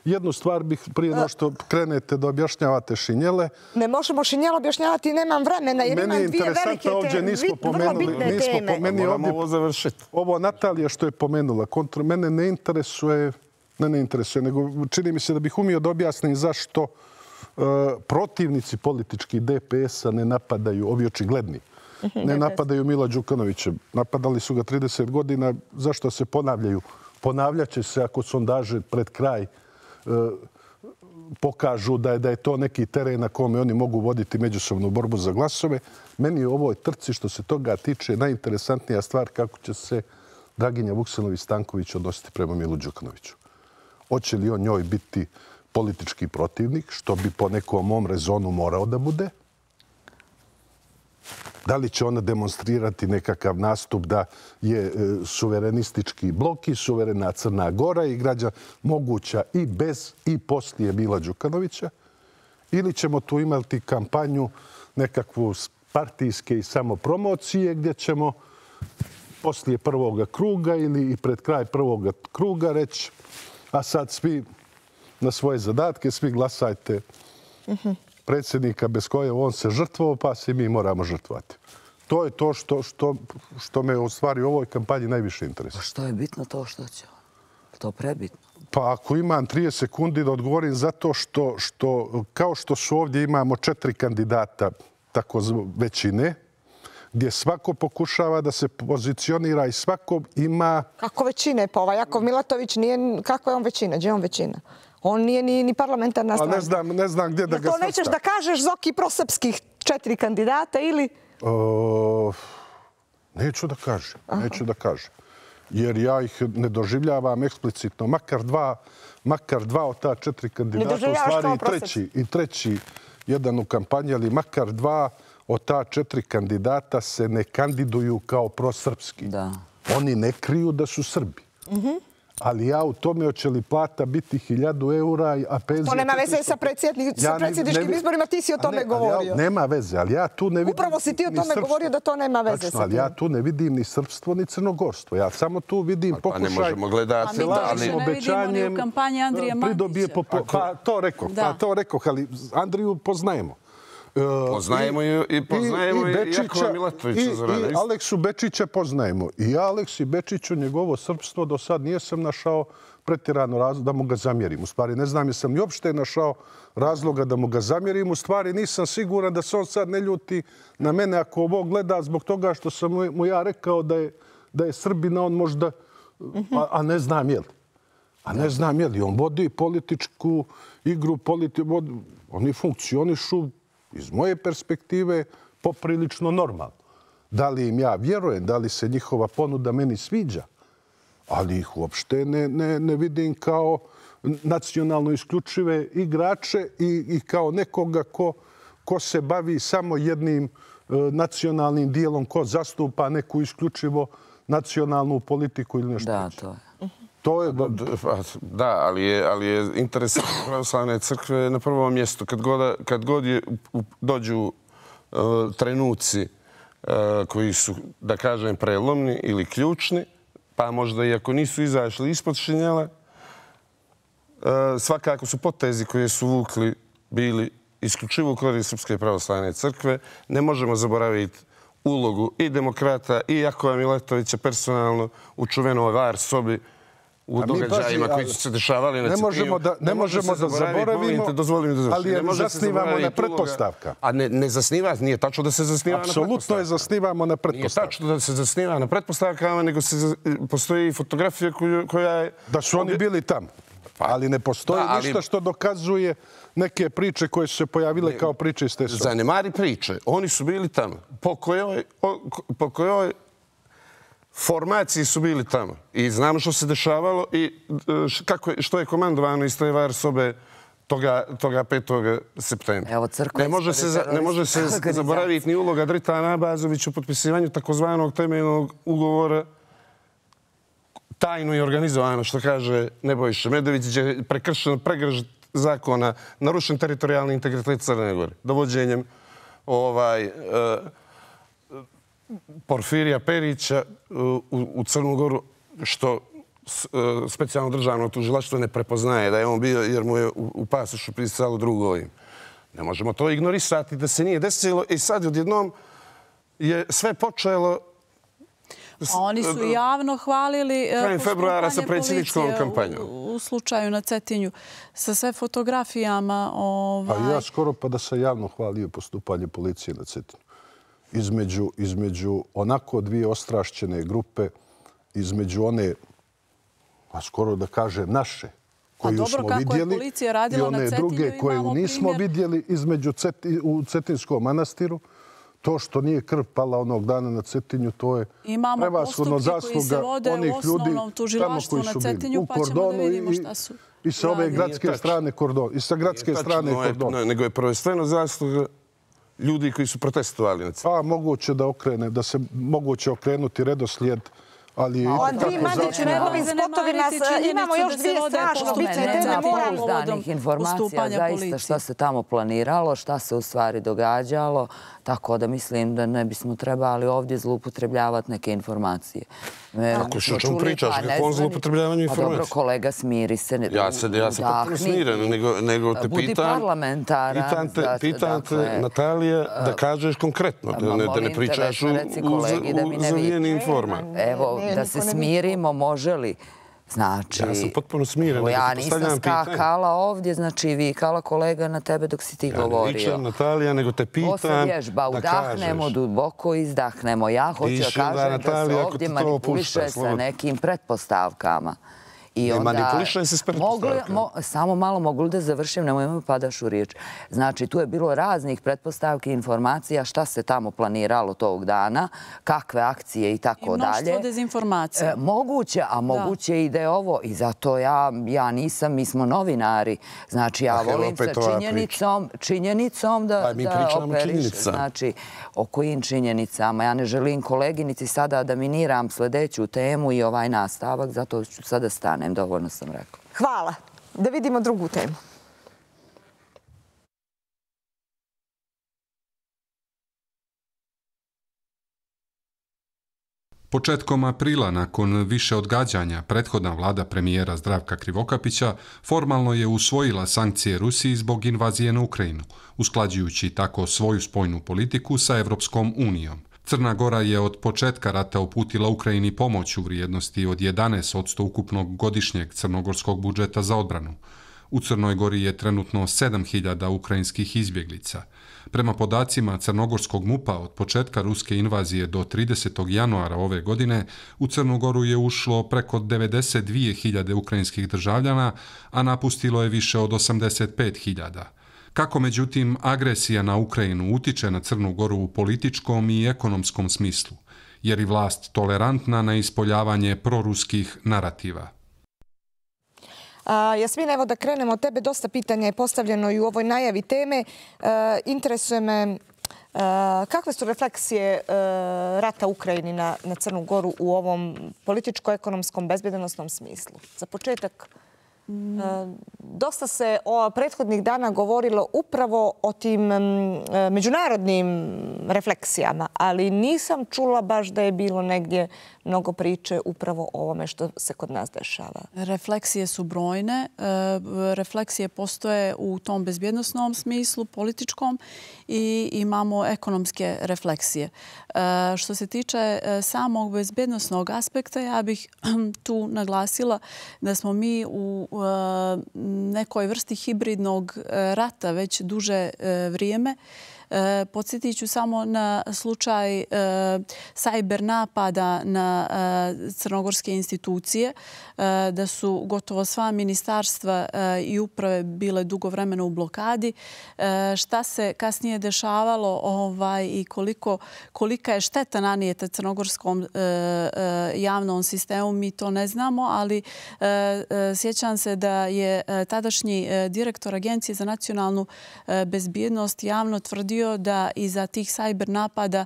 Jednu stvar bih prije no što krenete da objašnjavate šinjele. Ne možemo šinjelo objašnjavati, nemam vremena, jer Meni je imam dvije velike interesantno, ovdje teme, nismo vrlo pomenuli, bitne nismo teme. pomenuli Moramo ovdje ovo završiti. ovo Natalija što je pomenula, kontra mene ne interesuje, ne, ne interesuje, nego čini mi se da bih umio da objasnim zašto e, protivnici politički D P S-a ne napadaju, ovi očigledni, ne napadaju Mila Đukanovića. Napadali su ga trideset godina, zašto se ponavljaju? Ponavljaće se ako sondaže pred kraj e, pokažu da je, da je to neki teren na kome oni mogu voditi međusobnu borbu za glasove. Meni je u ovoj trci što se toga tiče najinteresantnija stvar kako će se Draginja Vuksanović-Stanković odnositi prema Milu Đukanoviću. Hoće li on njoj biti politički protivnik, što bi po nekom mom rezonu morao da bude? Da li će ona demonstrirati nekakav nastup da je e, suverenistički blok i suverena Crna Gora i građa moguća i bez i poslije Mila Đukanovića? Ili ćemo tu imati kampanju nekakvu partijske i samopromocije gdje ćemo poslije prvoga kruga ili i pred kraj prvoga kruga reći a sad svi na svoje zadatke, svi glasajte predsjednika bez koje on se žrtvovao, pa se mi moramo žrtvovati. To je to što, što, što me u stvari u ovoj kampanji najviše interesuje. Što je bitno to što će on? To prebitno. Pa ako imam trideset sekundi da odgovorim zato što, što kao što su ovdje imamo četiri kandidata tako većine, gdje svako pokušava da se pozicionira i svako ima... Kako većine? Pa ovaj Jakov Milatović nije... Kako je on većina? Gdje je on većina? On nije ni, ni parlamentarna stranka. Ne znam, ne znam gdje da ga svrsta. svrsta. To nećeš da kažeš Zoki prosrpskih četiri kandidata ili... O, neću da kažem. Aha. Neću da kažem. Jer ja ih ne doživljavam eksplicitno. Makar dva, makar dva od ta četiri kandidata, u stvari i treći, i treći jedan u kampanji, ali makar dva od ta četiri kandidata se ne kandiduju kao prosrpski. Da. Oni ne kriju da su Srbi. Mm-hmm. Ali ja u tome hoće li plata biti hiljadu eura, a penzija... To nema veze sa predsjedničkim izborima, ti si o tome govorio. Nema veze, ali ja tu ne vidim... Upravo si ti o tome govorio da to nema veze sa tim. Ali ja tu ne vidim ni srpstvo, ni crnogorstvo. Ja samo tu vidim pokušaj... Pa ne možemo gledati... Pa mi to više ne vidimo ni u kampanji Andrija Mandića. Pa to rekao, pa to rekao, ali Andriju poznajemo. Poznajemo i poznajemo i Jakova Milatovića. I Aleksu Bečića poznajemo. I Aleks i Bečiću njegovo srpstvo do sad nijesam našao pretjerano razlog da mu ga zamjerim. U stvari ne znam jesam ni uopšte našao razloga da mu ga zamjerim. U stvari nisam siguran da se on sad ne ljuti na mene ako ovo gleda zbog toga što sam mu ja rekao da je, da je Srbina on možda, a, a ne znam je li. A ne znam je li. On vodi političku igru, politi, vodi, oni funkcionišu iz moje perspektive poprilično normalno. Da li im ja vjerujem, da li se njihova ponuda meni sviđa, ali ih uopšte ne, ne, ne vidim kao nacionalno isključive igrače i, i kao nekoga ko, ko se bavi samo jednim e, nacionalnim dijelom, ko zastupa neku isključivo nacionalnu politiku ili nešto. Da, to je. To je... Da, ali je, ali je interesant pravoslavne crkve na prvom mjestu. Kad god, kad god je, dođu uh, trenuci uh, koji su, da kažem, prelomni ili ključni, pa možda i ako nisu izašli ispod šinjela, uh, svakako su potezi koje su vukli bili isključivo u korist Srpske pravoslavne crkve. Ne možemo zaboraviti ulogu i demokrata i Jakova Milatovića personalno u čuvenoj var sobi u događajima koji su se dešavali na ne možemo da, ne možemo da zaboravimo, ali je zasnivamo na pretpostavka. A ne, ne zasniva, nije tačno da se zasniva na pretpostavka. Apsolutno je zasnivamo na pretpostavka. Nije tačno da se zasniva na pretpostavkama, nego se, postoji fotografija koju, koja je... Da su oni bili tamo. Ali ne postoji da, ali... ništa što dokazuje neke priče koje su se pojavile ne, kao priče iz te sobe. Zanemari priče. Oni su bili tamo. Po kojoj... Po kojoj formaciji su bili tamo i znamo što se dešavalo i kako je, što je komandovano iz te var sobe toga, toga petog septembra. Evo, ne može se, ne može se zaboraviti ni uloga Dritana Abazovića u potpisivanju takozvanog temeljnog ugovora tajno i organizovano, što kaže Nebojša Medović, gdje je prekršeno pregršt zakona, narušen teritorijalni integritet Crne Gore, dovođenjem ovaj... Uh, Porfirija Perića u, u Crnu Goru, što specijalno državno tužilaštvo ne prepoznaje da je on bio jer mu je u, u pasošu pisalo drugo ime. Ne možemo to ignorisati da se nije desilo i sad odjednom je sve počelo... A oni su javno hvalili krajem februara sa predsjedničkom kampanjom. U, u slučaju na Cetinju sa sve fotografijama. Ovaj... Pa ja skoro pa da sam javno hvalio postupanje policije na Cetinju. Između, između onako dvije ostrašćene grupe, između one, a skoro da kaže naše, koju dobro, smo vidjeli, i one druge koje nismo primjer... vidjeli između Ceti, u Cetinskom manastiru. To što nije krv pala onog dana na Cetinju, to je prevashodno zasluga onih ljudi tamo koji su bili u Kordonu i, i sa ove gradske strane Kordon, i sa gradske strane Kordona. Nego je prvenstveno zasluga ljudi koji su protestovali na Cetinju. Pa moguće da okrene, da se moguće okrenuti redoslijed, ali... Andriji Mandiću, njegovim spotovima imamo još dvije strašno bitne teme. Pouzdanih informacija zaista šta se tamo planiralo, šta se u stvari događalo, tako da mislim da ne bismo trebali ovdje zloupotrebljavati neke informacije. Kako što čemu pričaš? Kako on zloupotrebljavanju informacije? Pa dobro, kolega, smiri se. Ja se ja sam potpuno smiren, nego te budi pitam... parlamentara. Pitam te, Natalija, da kažeš konkretno, da ne pričaš u zamijenim formama. Evo, da se smirimo, može li Znači, ja sam potpuno smiren. Ja nisam skakala ovdje, znači vikala kolega na tebe dok si ti govorio. Ja ne vičem, Natalija, nego te pitam da kažeš. Ovo se vježba, udahnemo, duboko izdahnemo. Ja hoću da kažem da se ovdje manipuliše sa nekim pretpostavkama. Ne manipulišaj se s pretpostavkama. Samo malo, mogu li da završim, nemoj me padaš u riječ. Znači, tu je bilo raznih pretpostavki, informacija, šta se tamo planiralo tog dana, kakve akcije i tako dalje. I mnoštvo dezinformacija. Moguće, a moguće i da je ovo. I zato ja nisam, mi smo novinari. Znači, ja volim se činjenicom da operiš. Znači, o kojim činjenicama. Ja ne želim koleginici sada da miniram sljedeću temu i ovaj nastavak, zato ću sada stati. Dovoljno sam rekla. Hvala. Da vidimo drugu temu. Početkom aprila, nakon više odgađanja, prethodna vlada premijera Zdravka Krivokapića formalno je usvojila sankcije Rusiji zbog invazije na Ukrajinu, usklađujući tako svoju spoljnu politiku sa Evropskom unijom. Crna Gora je od početka rata uputila Ukrajini pomoć u vrijednosti od jedanaest posto ukupnog godišnjeg crnogorskog budžeta za odbranu. U Crnoj Gori je trenutno sedam hiljada ukrajinskih izbjeglica. Prema podacima crnogorskog MUP-a od početka ruske invazije do tridesetog januara ove godine u Crnu Goru je ušlo preko devedeset dvije hiljade ukrajinskih državljana, a napustilo je više od osamdeset pet hiljada. Kako, međutim, agresija na Ukrajinu utiče na Crnu Goru u političkom i ekonomskom smislu, jer je vlast tolerantna na ispoljavanje proruskih narativa? Jasmina, evo da krenemo od tebe. Dosta pitanja je postavljeno i u ovoj najavi teme. Interesuje me kakve su refleksije rata Ukrajini na Crnu Goru u ovom političko-ekonomskom bezbjednosnom smislu. Za početak, dosta se prethodnih dana govorilo upravo o tim međunarodnim refleksijama, ali nisam čula baš da je bilo negdje mnogo priče upravo o ovome što se kod nas dešava. Refleksije su brojne. Refleksije postoje u tom bezbjednosnom smislu, političkom, i imamo ekonomske refleksije. Što se tiče samog bezbjednosnog aspekta, ja bih tu naglasila da smo mi u nekoj vrsti hibridnog rata već duže vrijeme. Podsjetit ću samo na slučaj sajber napada na crnogorske institucije, da su gotovo sva ministarstva i uprave bile dugo vremena u blokadi. Šta se kasnije dešavalo i kolika je šteta nanijeta crnogorskom javnom sistemu, mi to ne znamo, ali sjećam se da je tadašnji direktor Agencije za nacionalnu bezbjednost javno tvrdio da iza tih sajber napada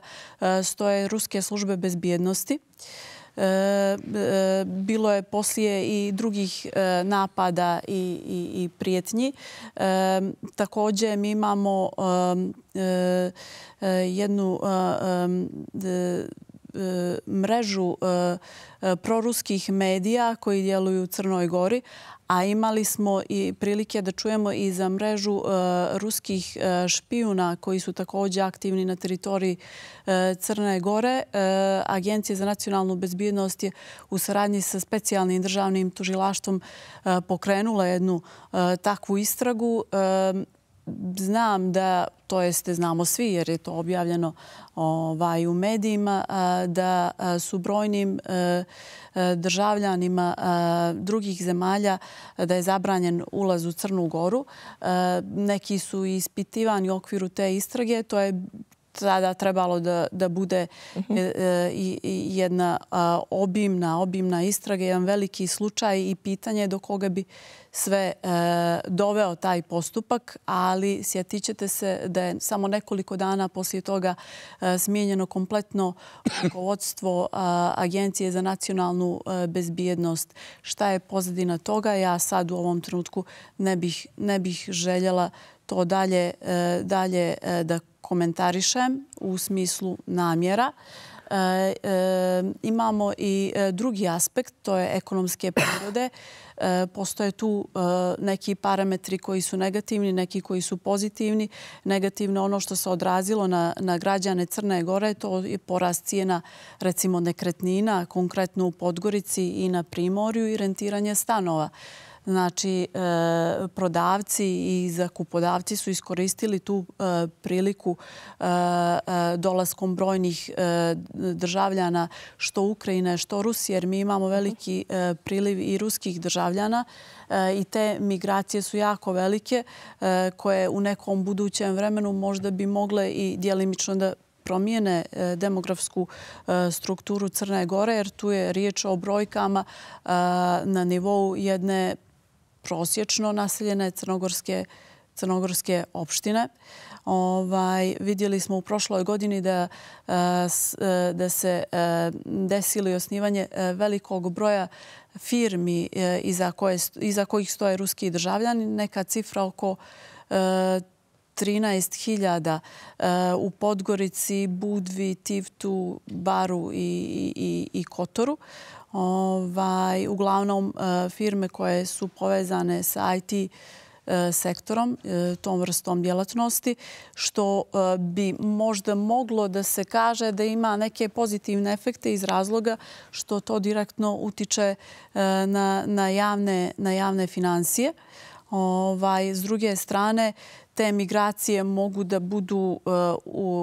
stoje ruske službe bezbjednosti. Bilo je poslije i drugih napada i prijetnji. Također mi imamo jednu mrežu proruskih medija koji djeluju u Crnoj Gori, a imali smo i prilike da čujemo i za mrežu ruskih špijuna koji su također aktivni na teritoriji Crne Gore. Agencija za nacionalnu bezbjednost je u saradnji sa specijalnim državnim tužilaštvom pokrenula jednu takvu istragu. Znam da, to jeste znamo svi jer je to objavljeno u medijima, da su brojnim državljanima drugih zemalja da je zabranjen ulaz u Crnu Goru. Neki su ispitivani u okviru te istrage. To je tada trebalo da bude jedna obimna, obimna istraga, jedan veliki slučaj i pitanje do koga bi sve doveo taj postupak, ali sjetit ćete se da je samo nekoliko dana poslije toga smijenjeno kompletno rukovodstvo Agencije za nacionalnu bezbjednost. Šta je pozadina toga? Ja sad u ovom trenutku ne bih željela to dalje da komentarišem u smislu namjera. Imamo i drugi aspekt, to je ekonomske prirode. Postoje tu neki parametri koji su negativni, neki koji su pozitivni. Negativno ono što se odrazilo na, na građane Crne Gore, to je porast cijena recimo nekretnina, konkretno u Podgorici i na Primorju i rentiranje stanova. Znači, prodavci i zakupodavci su iskoristili tu priliku dolaskom brojnih državljana što Ukrajine, što Rusije, jer mi imamo veliki priliv i ruskih državljana i te migracije su jako velike koje u nekom budućem vremenu možda bi mogle i djelimično da promijene demografsku strukturu Crne Gore, jer tu je riječ o brojkama na nivou jedne prosječno naseljene crnogorske, crnogorske opštine. Ovaj, vidjeli smo u prošloj godini da, da se desilo desilo velikog broja firmi iza, koje, iza kojih stoje ruski državljani. Neka cifra oko trinaest hiljada u Podgorici, Budvi, Tivtu, Baru i, i, i Kotoru. Ovaj, uglavnom firme koje su povezane sa I T sektorom, tom vrstom djelatnosti, što bi možda moglo da se kaže da ima neke pozitivne efekte iz razloga što to direktno utiče na, na, javne, na javne financije. Ovaj, s druge strane, te migracije mogu da budu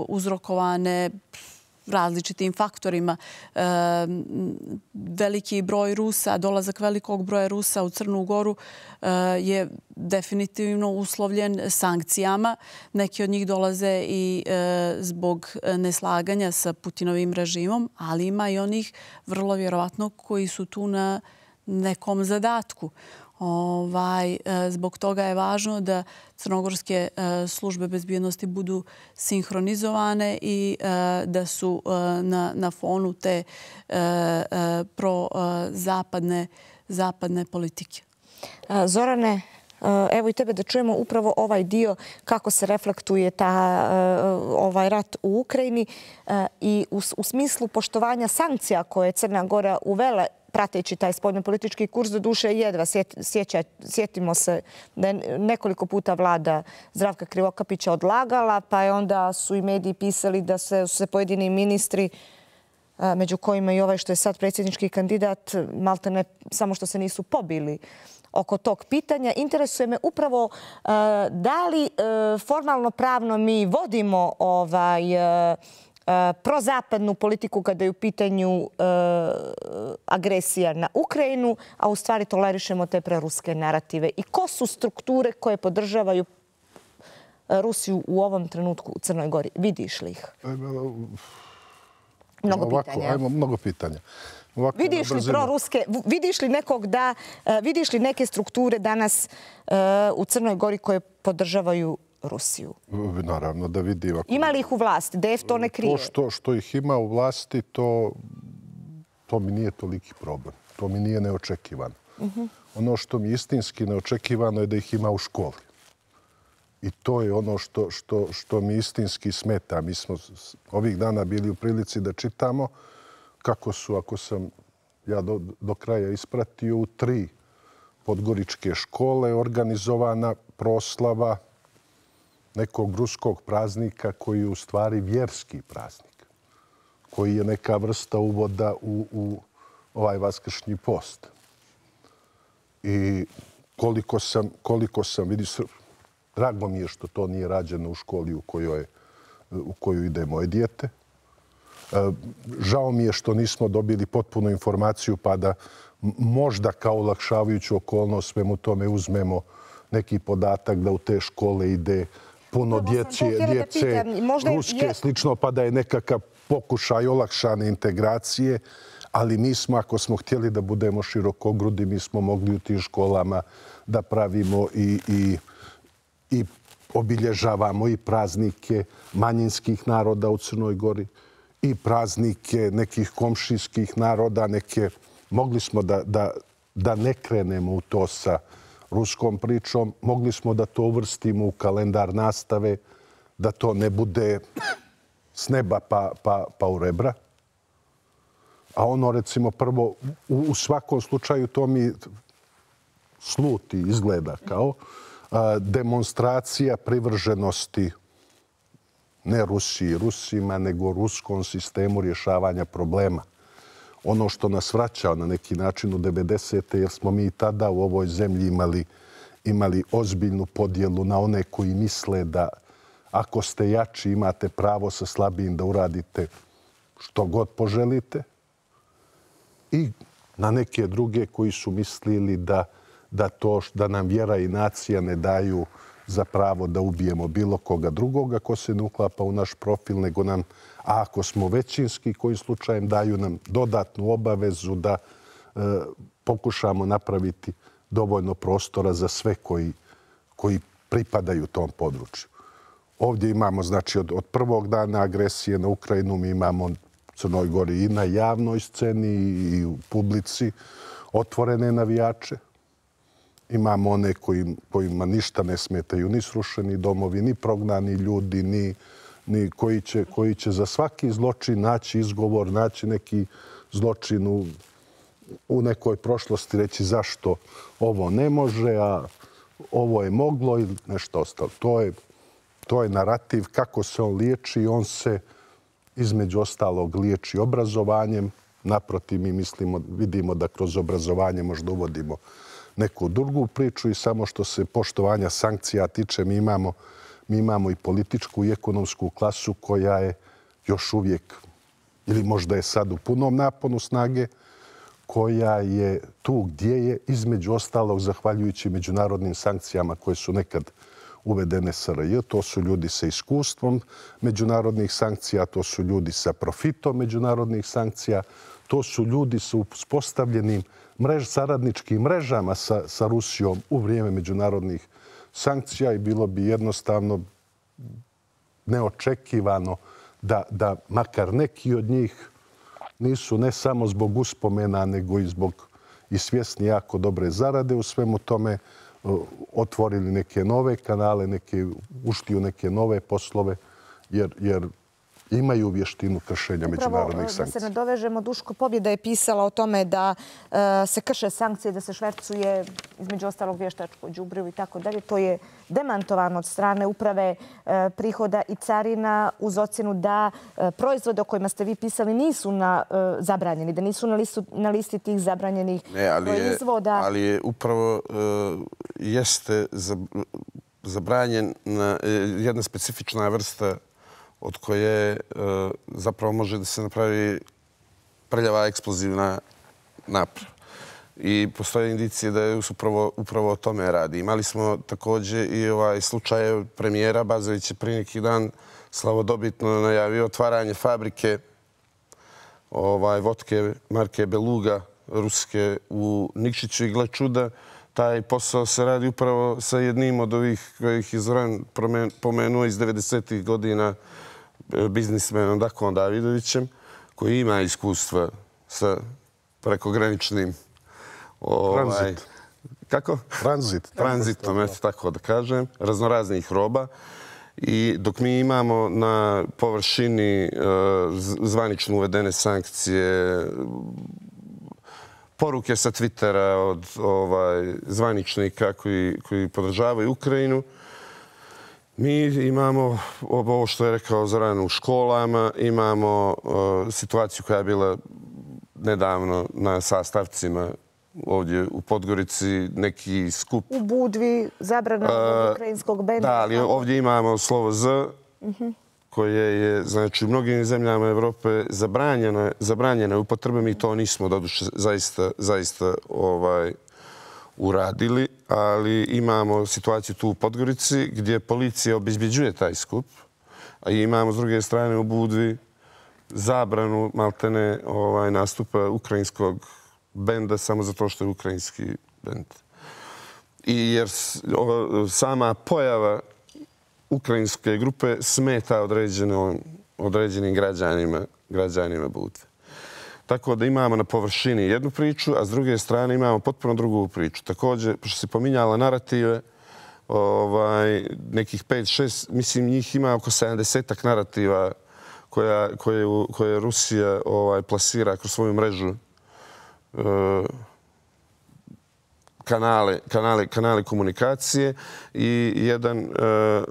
uzrokovane različitim faktorima. Veliki broj Rusa, dolazak velikog broja Rusa u Crnu Goru je definitivno uslovljen sankcijama. Neki od njih dolaze i zbog neslaganja sa Putinovim režimom, ali ima i onih vrlo vjerovatno koji su tu na nekom zadatku. Ovaj, zbog toga je važno da crnogorske službe bezbjednosti budu sinhronizovane i da su na, na fonu te pro-zapadne zapadne politike. Zorane, evo i tebe da čujemo upravo ovaj dio kako se reflektuje ta, ovaj rat u Ukrajini i u, u smislu poštovanja sankcija koje je Crna Gora uvela prateći taj spoljnopolitički kurs, do duše jedva. Sjeća, sjetimo se da je nekoliko puta vlada Zdravka Krivokapića odlagala, pa je onda su i mediji pisali da se, se pojedini ministri, među kojima i ovaj što je sad predsjednički kandidat, malte ne samo što se nisu pobili oko tog pitanja. Interesuje me upravo da li formalno pravno mi vodimo ovaj prozapadnu politiku kada je u pitanju agresija na Ukrajinu, a u stvari tolerišemo te preruske narative. I ko su strukture koje podržavaju Rusiju u ovom trenutku u Crnoj Gori? Vidiš li ih? Mnogo Ovako, pitanja. Ajmo, mnogo pitanja. Ovako, vidiš li proruske, vidiš li nekog da, vidiš li neke strukture danas u Crnoj Gori koje podržavaju Rusiju? Naravno, da vidim. Ako... Ima li ih u vlasti? D F to ne krije? To što, što ih ima u vlasti, to, to mi nije toliki problem. To mi nije neočekivano. Uh-huh. Ono što mi istinski neočekivano je da ih ima u školi. I to je ono što, što, što mi istinski smeta. Mi smo ovih dana bili u prilici da čitamo kako su, ako sam ja do, do kraja ispratio, u tri podgoričke škole organizovana proslava nekog ruskog praznika koji je u stvari vjerski praznik, koji je neka vrsta uvoda u, u ovaj vaskršnji post. I koliko sam, koliko sam vidi, drago mi je što to nije rađeno u školi u kojoj, u koju ide moje dijete. Žao mi je što nismo dobili potpunu informaciju pa da možda kao olakšavajuću okolnost svemu tome uzmemo neki podatak da u te škole ide puno djece, djece ruske, slično, pa da je nekakav pokušaj olakšane integracije. Ali mi smo, ako smo htjeli da budemo širokogrudi, mi smo mogli u tim školama da pravimo i, i, i obilježavamo i praznike manjinskih naroda u Crnoj Gori i praznike nekih komšijskih naroda. Neke, mogli smo da, da, da ne krenemo u to sa ruskom pričom. Mogli smo da to uvrstimo u kalendar nastave, da to ne bude s neba pa, pa, pa u rebra. A ono, recimo, prvo, u svakom slučaju to mi sluti, izgleda kao demonstracija privrženosti ne Rusiji, Rusima, nego ruskom sistemu rješavanja problema. Ono što nas vraća na neki način u devedesete, jer smo mi tada u ovoj zemlji imali, imali ozbiljnu podjelu na one koji misle da ako ste jači imate pravo sa slabijim da uradite što god poželite, i na neke druge koji su mislili da, da, to, da nam vjera i nacija ne daju za pravo da ubijemo bilo koga drugoga ko se ne uklapa u naš profil, nego nam, a ako smo većinski, kojim slučajem daju nam dodatnu obavezu da e, pokušamo napraviti dovoljno prostora za sve koji, koji pripadaju tom području. Ovdje imamo, znači, od, od prvog dana agresije na Ukrajinu mi imamo Crnoj Gori i na javnoj sceni i u publici otvorene navijače. Imamo one koji, kojima ništa ne smetaju, ni srušeni domovi, ni prognani ljudi, ni, ni koji, će, koji će za svaki zločin naći izgovor, naći neki zločin u, u nekoj prošlosti, reći zašto ovo ne može, a ovo je moglo ili nešto ostalo. To je, to je narativ kako se on liječi. On se između ostalog liječi obrazovanjem. Naprotiv, mi mislimo, vidimo da kroz obrazovanje možda uvodimo neku drugu priču i samo što se poštovanja sankcija tiče, mi imamo, mi imamo i političku i ekonomsku klasu koja je još uvijek, ili možda je sad u punom naponu snage, koja je tu gdje je, između ostalog zahvaljujući međunarodnim sankcijama koje su nekad uvedene S R J. To su ljudi sa iskustvom međunarodnih sankcija, to su ljudi sa profitom međunarodnih sankcija, to su ljudi sa uspostavljenim mrež, saradničkim mrežama sa, sa Rusijom u vrijeme međunarodnih sankcija i bilo bi jednostavno neočekivano da, da makar neki od njih nisu ne samo zbog uspomena, nego i zbog i svjesni jako dobre zarade u svemu tome, otvorili neke nove kanale, neke, ušli u neke nove poslove, jer, jer imaju vještinu kršenja međunarodnih sankcija. Da se nadovežemo, Duško Pobjeda je pisala o tome da uh, se krše sankcije, da se švercuje između ostalog vještačko đubrivo i tako dalje. To je demantovano od strane uprave uh, prihoda i carina uz ocjenu da uh, proizvode o kojima ste vi pisali nisu na, uh, zabranjeni, da nisu na, listu, na listi tih zabranjenih ne, ali proizvoda. Je, ali je upravo uh, jeste zabranjen na, jedna specifična vrsta od koje zapravo može da se napravi prljava eksplozivna naprava. I postoje indicije da je upravo, upravo o tome radi. Imali smo također i ovaj slučaj premijera Bazović je prije neki dan slavodobitno najavio otvaranje fabrike ovaj, vodke marke Beluga ruske u Nikšiću i gle čuda. Taj posao se radi upravo sa jednim od ovih kojih je Zoran pomenuo iz devedesetih godina, biznismenom Dakom Davidovićem, koji ima iskustva sa prekograničnim ovaj, tranzit. Kako? Tranzit. Tranzitom, eto tako da kažem, raznoraznih roba. I dok mi imamo na površini uh, zvanično uvedene sankcije, poruke sa Twittera od ovaj, zvaničnika koji, koji podržavaju Ukrajinu, mi imamo ovo što je rekao Zoran u školama, imamo uh, situaciju koja je bila nedavno na sastavcima ovdje u Podgorici, neki skup. U Budvi, zabrana uh, ukrajinskog benda. Da, ali ovdje imamo slovo Z, uh-huh. koje je, znači, u mnogim zemljama Evrope zabranjeno, zabranjeno upotrebe. Mi to nismo doduše zaista, zaista ovaj, uradili, ali imamo situaciju tu u Podgorici gdje policija obezbjeđuje taj skup, a imamo s druge strane u Budvi zabranu maltene ovaj, nastupa ukrajinskog benda samo zato što je ukrajinski bend. I jer o, sama pojava ukrajinske grupe smeta određeno, određenim građanima, građanima Budve. Tako da imamo na površini jednu priču, a s druge strane imamo potpuno drugu priču. Također, pošto se pominjala narative, ovaj, nekih pet šest, mislim, njih ima oko sedamdesetak narativa koja, koje, koje Rusija ovaj, plasira kroz svoju mrežu e, kanale, kanale, kanale komunikacije i jedan e, e,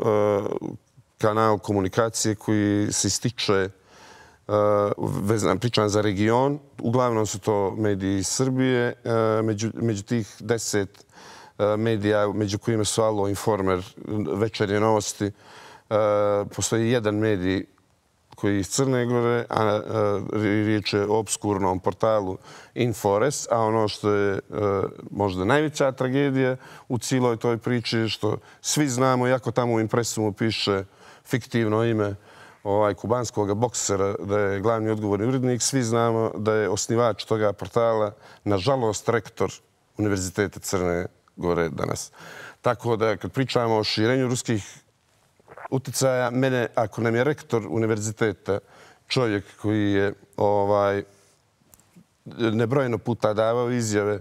kanal komunikacije koji se ističe vezan, pričam za region. Uglavnom su to mediji iz Srbije. Među, među tih deset medija, među kojima su Alo, Informer, Večernje novosti, postoji jedan medij koji je iz Crne Gore, a riječ je o obskurnom portalu Infores, a ono što je možda najveća tragedija u cijeloj toj priči je što svi znamo, iako tamo u impresumu piše fiktivno ime ovaj kubanskog boksera, da je glavni odgovorni urednik, svi znamo da je osnivač toga portala, nažalost, rektor Univerziteta Crne Gore danas. Tako da, kad pričamo o širenju ruskih uticaja, mene, ako nam je rektor univerziteta čovjek koji je ovaj, nebrojeno puta davao izjave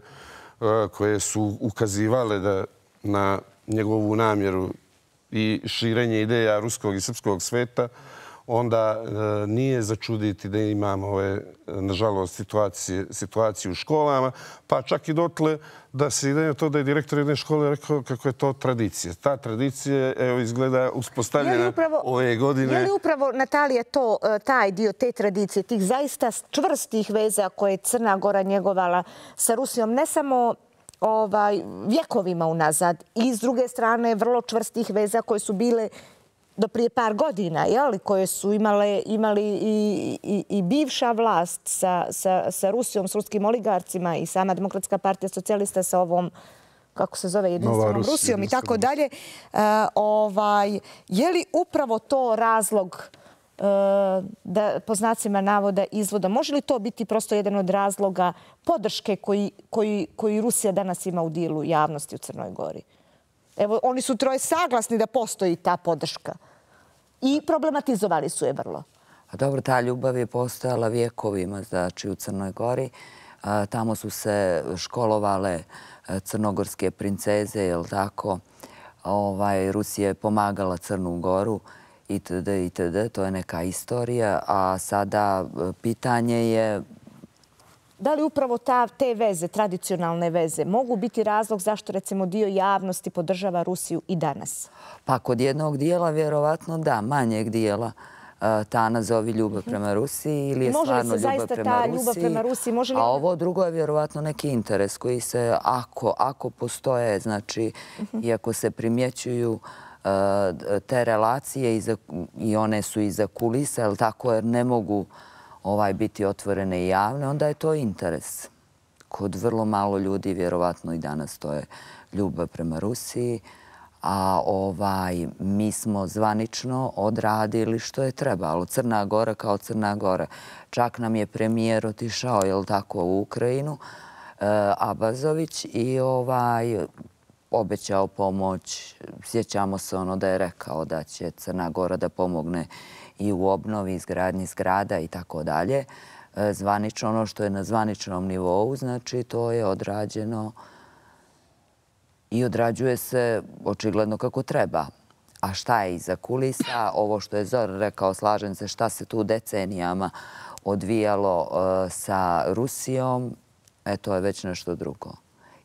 koje su ukazivale da na njegovu namjeru i širenje ideja ruskog i srpskog sveta, onda nije začuditi da imamo ove, nažalost, situacije, situacije u školama, pa čak i dotle da se ide to da je direktor jedne škole rekao kako je to tradicija. Ta tradicija, evo, izgleda uspostavljena upravo, ove godine. Je li upravo, Natalija, to, taj dio te tradicije, tih zaista čvrstih veza koje je Crna Gora njegovala sa Rusijom, ne samo ovaj, vjekovima unazad, i s druge strane vrlo čvrstih veza koje su bile do prije par godina, jeli, koje su imale, imali i, i, i bivša vlast sa, sa, sa Rusijom, s ruskim oligarcima i sama Demokratska partija socijalista sa ovom, kako se zove, jedinstvenom Rusijom i tako dalje. Ovaj, je li upravo to razlog da, po znacima navoda, izvoda? Može li to biti prosto jedan od razloga podrške koji, koji, koji Rusija danas ima u dijelu javnosti u Crnoj Gori? Evo, oni su troje saglasni da postoji ta podrška. I problematizovali su je vrlo. A dobro, ta ljubav je postojala vjekovima, znači u Crnoj Gori. A, tamo su se školovale crnogorske princeze, jel tako? Ovaj, Rusija je pomagala Crnu Goru itd. itd. To je neka istorija. A sada pitanje je... Da li upravo ta, te veze, tradicionalne veze, mogu biti razlog zašto, recimo, dio javnosti podržava Rusiju i danas? Pa kod jednog dijela, vjerovatno da, manjeg dijela, ta nazovi ljubav prema Rusiji ili je stvarno ljubav prema Rusiji. Prema Rusiji može li... A ovo drugo je vjerovatno neki interes koji se, ako, ako postoje, znači, i ako se primjećuju te relacije i, za, i one su iza kulisa, jel tako, jer ne mogu ovaj biti otvorene i javne, onda je to interes. Kod vrlo malo ljudi, vjerovatno i danas, to je ljubav prema Rusiji, a ovaj, mi smo zvanično odradili što je trebalo. Crna Gora kao Crna Gora. Čak nam je premijer otišao, jel tako, u Ukrajinu, Abazović, i ovaj, obećao pomoć. Sjećamo se ono da je rekao da će Crna Gora da pomogne i u obnovi, izgradnji zgrada i tako dalje. Zvanično, ono što je na zvaničnom nivou, znači to je odrađeno i odrađuje se očigledno kako treba. A šta je iza kulisa? Ovo što je Zoran rekao, slažem se, šta se tu decenijama odvijalo sa Rusijom, e, to je već nešto drugo.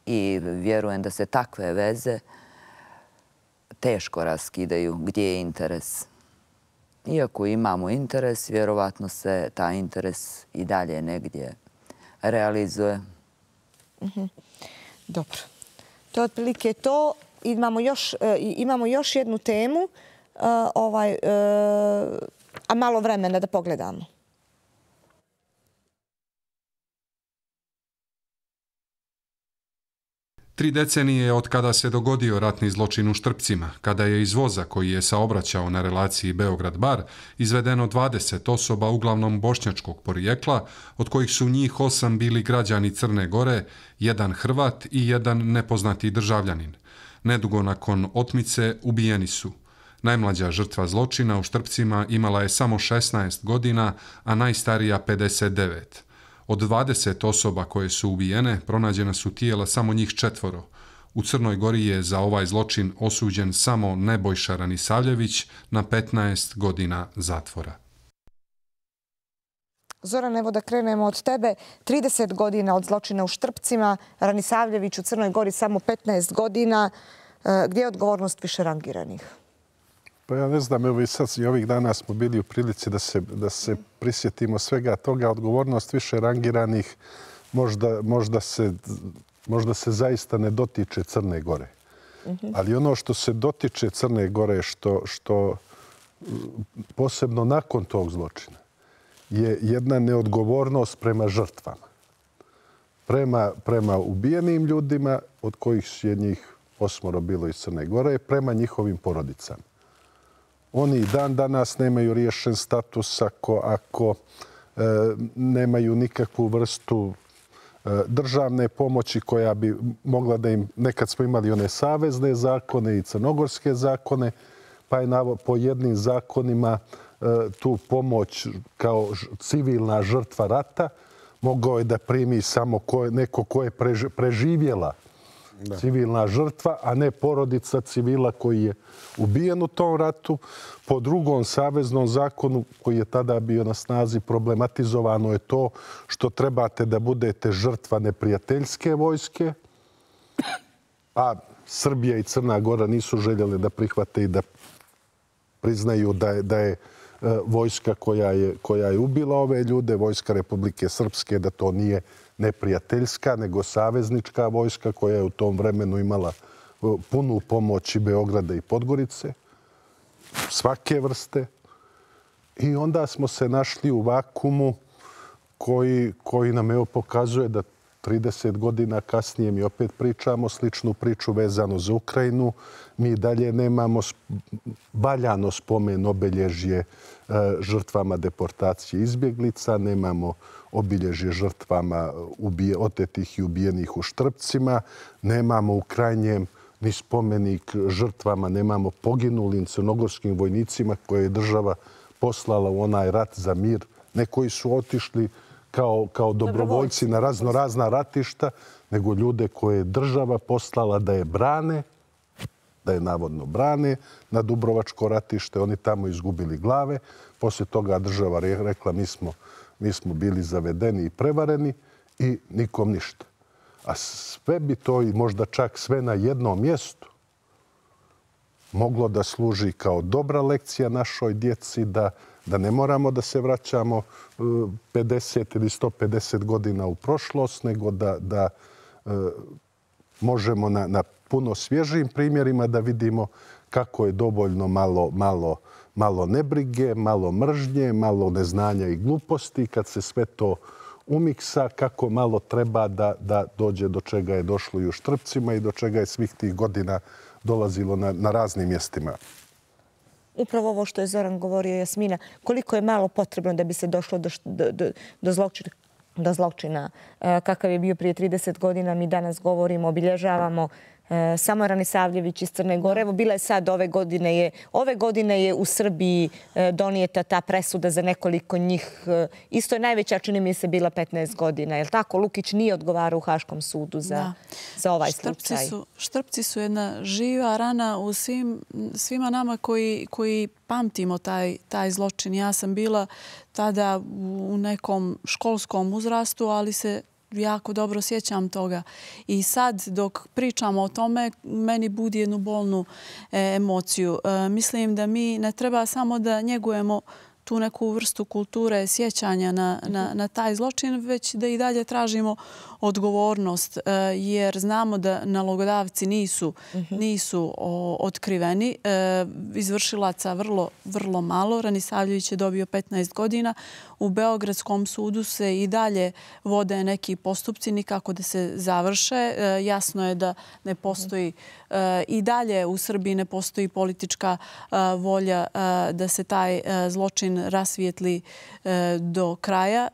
I vjerujem da se takve veze teško raskidaju. Gdje je interes? Iako imamo interes, vjerovatno se taj interes i dalje negdje realizuje. Mm-hmm. Dobro. To je otprilike to. Imamo još, uh, imamo još jednu temu, uh, ovaj, uh, a malo vremena da pogledamo. Tri decenije od kada se dogodio ratni zločin u Štrpcima, kada je iz voza koji je saobraćao na relaciji Beograd-Bar izvedeno dvadeset osoba uglavnom bošnjačkog porijekla, od kojih su njih osam bili građani Crne Gore, jedan Hrvat i jedan nepoznati državljanin. Nedugo nakon otmice ubijeni su. Najmlađa žrtva zločina u Štrpcima imala je samo šesnaest godina, a najstarija pedeset devet. Od dvadeset osoba koje su ubijene, pronađena su tijela samo njih četvoro. U Crnoj Gori je za ovaj zločin osuđen samo Nebojša Ranisavljević na petnaest godina zatvora. Zoran, evo da krenemo od tebe. trideset godina od zločina u Štrpcima, Ranisavljević u Crnoj Gori samo petnaest godina. Gdje je odgovornost više rangiranih? Pa ja ne znam, evo i sad i ovih dana smo bili u prilici da se, da se prisjetimo svega toga. Odgovornost više rangiranih možda, možda, se, možda se zaista ne dotiče Crne Gore. Mm-hmm. Ali ono što se dotiče Crne Gore, što, što posebno nakon tog zločina, je jedna neodgovornost prema žrtvama. Prema, prema ubijenim ljudima, od kojih je njih osmoro bilo iz Crne Gore, prema njihovim porodicama. Oni i dan danas nemaju riješen status ako, ako e, nemaju nikakvu vrstu e, državne pomoći koja bi mogla da im... Nekad smo imali one savezne zakone i crnogorske zakone, pa je na, po jednim zakonima e, tu pomoć kao civilna žrtva rata mogao je da primi samo ko, neko ko je prež, preživjela Da. civilna žrtva, a ne porodica civila koji je ubijen u tom ratu. Po drugom saveznom zakonu koji je tada bio na snazi problematizovano je to što trebate da budete žrtva neprijateljske vojske, a Srbija i Crna Gora nisu željeli da prihvate i da priznaju da je, da je vojska koja je, koja je ubila ove ljude, vojska Republike Srpske, da to nije neprijateljska, nego saveznička vojska koja je u tom vremenu imala punu pomoć i Beograda i Podgorice, svake vrste. I onda smo se našli u vakumu koji, koji nam evo pokazuje da trideset godina kasnije mi opet pričamo sličnu priču vezano za Ukrajinu. Mi dalje nemamo valjano spomen obilježje žrtvama deportacije izbjeglica, nemamo obilježje žrtvama ubije, otetih i ubijenih u Štrpcima, nemamo u krajnjem ni spomenik žrtvama, nemamo poginulim crnogorskim vojnicima koje je država poslala u onaj rat za mir. Ne koji su otišli kao, kao dobrovoljci na razno razna ratišta, nego ljude koje je država poslala da je brane, da je navodno brane na Dubrovačko ratište. Oni tamo izgubili glave. Poslije toga država rekla mi smo, mi smo bili zavedeni i prevareni i nikom ništa. A sve bi to i možda čak sve na jednom mjestu moglo da služi kao dobra lekcija našoj djeci da, da ne moramo da se vraćamo pedeset ili sto pedeset godina u prošlost, nego da, da e, možemo na, na puno svježijim primjerima da vidimo kako je dovoljno malo, malo, malo nebrige, malo mržnje, malo neznanja i gluposti. Kad se sve to umiksa, kako malo treba da, da dođe do čega je došlo i u Štrpcima i do čega je svih tih godina dolazilo na, na raznim mjestima. Upravo ovo što je Zoran govorio, Jasmina, koliko je malo potrebno da bi se došlo do, do, do, do zločina, do zločina kakav je bio prije trideset godina. Mi danas govorimo, obilježavamo samo Ranisavljević iz Crne Gore. Evo, bila je sad ove godine je, ove godine je u Srbiji donijeta ta presuda za nekoliko njih. Isto je najveća, čini mi se, bila petnaest godina. Je li tako? Lukić nije odgovarao u Haškom sudu za, da. za ovaj Štrpci slučaj. Su, Štrpci su jedna živa rana u svim, svima nama koji, koji pamtimo taj, taj zločin. Ja sam bila tada u nekom školskom uzrastu, ali se jako dobro sjećam toga. I sad dok pričamo o tome, meni budi jednu bolnu e, emociju. E, mislim da mi ne treba samo da njegujemo tu neku vrstu kulture sjećanja na, na, na taj zločin, već da i dalje tražimo odgovornost, jer znamo da nalogodavci nisu, nisu otkriveni. Izvršilaca vrlo, vrlo malo. Ranisavljević je dobio petnaest godina. U Beogradskom sudu se i dalje vode neki postupci, nikako da se završe. Jasno je da ne postoji i dalje u Srbiji ne postoji politička volja da se taj zločin rasvijetli do kraja.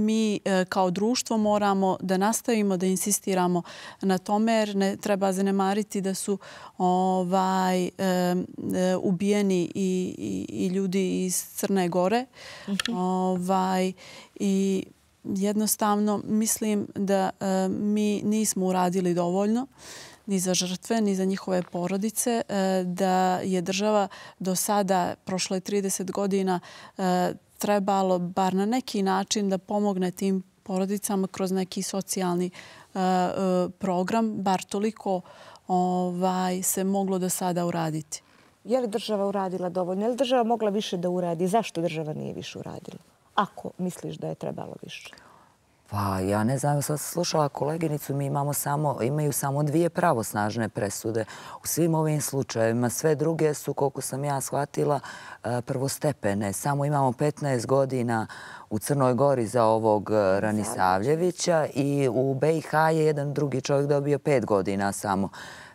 Mi kao društvo moramo da nastavimo da insistiramo na tome, jer ne treba zanemariti da su ovaj, e, e, ubijeni i, i, i ljudi iz Crne Gore. Mm-hmm. ovaj, I jednostavno mislim da e, mi nismo uradili dovoljno ni za žrtve, ni za njihove porodice, e, da je država do sada, prošlo je trideset godina, e, trebalo bar na neki način da pomogne tim porodicama kroz neki socijalni program, bar toliko se moglo do sada uraditi. Je li država uradila dovoljno? Je li država mogla više da uradi? Zašto država nije više uradila? Ako misliš da je trebalo više? Pa ja ne znam, sad sam slušala koleginicu, mi imamo samo, imaju samo dvije pravosnažne presude u svim ovim slučajevima. Sve druge su, koliko sam ja shvatila, prvostepene. Samo imamo petnaest godina u Crnoj Gori za ovog Ranisavljevića i u be i ha je jedan drugi čovjek dobio pet godina samo.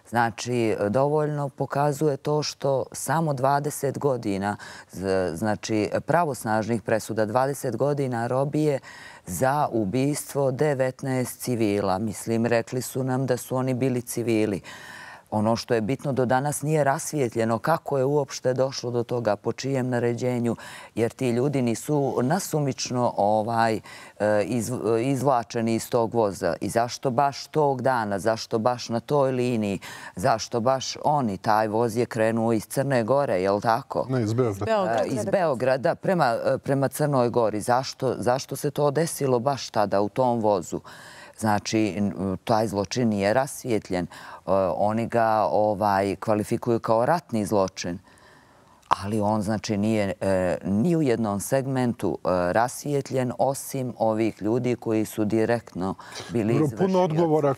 Znači, dovoljno pokazuje to što samo dvadeset godina, znači pravosnažnih presuda, dvadeset godina robije za ubistvo devetnaest civila. Mislim, rekli su nam da su oni bili civili. Ono što je bitno, do danas nije rasvijetljeno kako je uopšte došlo do toga, po čijem naređenju, jer ti ljudi nisu nasumično izvlačeni iz tog voza. I zašto baš tog dana, zašto baš na toj liniji, zašto baš oni? Taj voz je krenuo iz Crne Gore, je li tako? Ne, iz Beograda. Iz Beograda prema Crnoj Gori. Zašto se to desilo baš tada u tom vozu? Znači, taj zločin nije rasvijetljen. Oni ga kvalifikuju kao ratni zločin. Ali on, znači, nije ni u jednom segmentu rasvijetljen, osim ovih ljudi koji su direktno bili izvršioci. Puno odgovora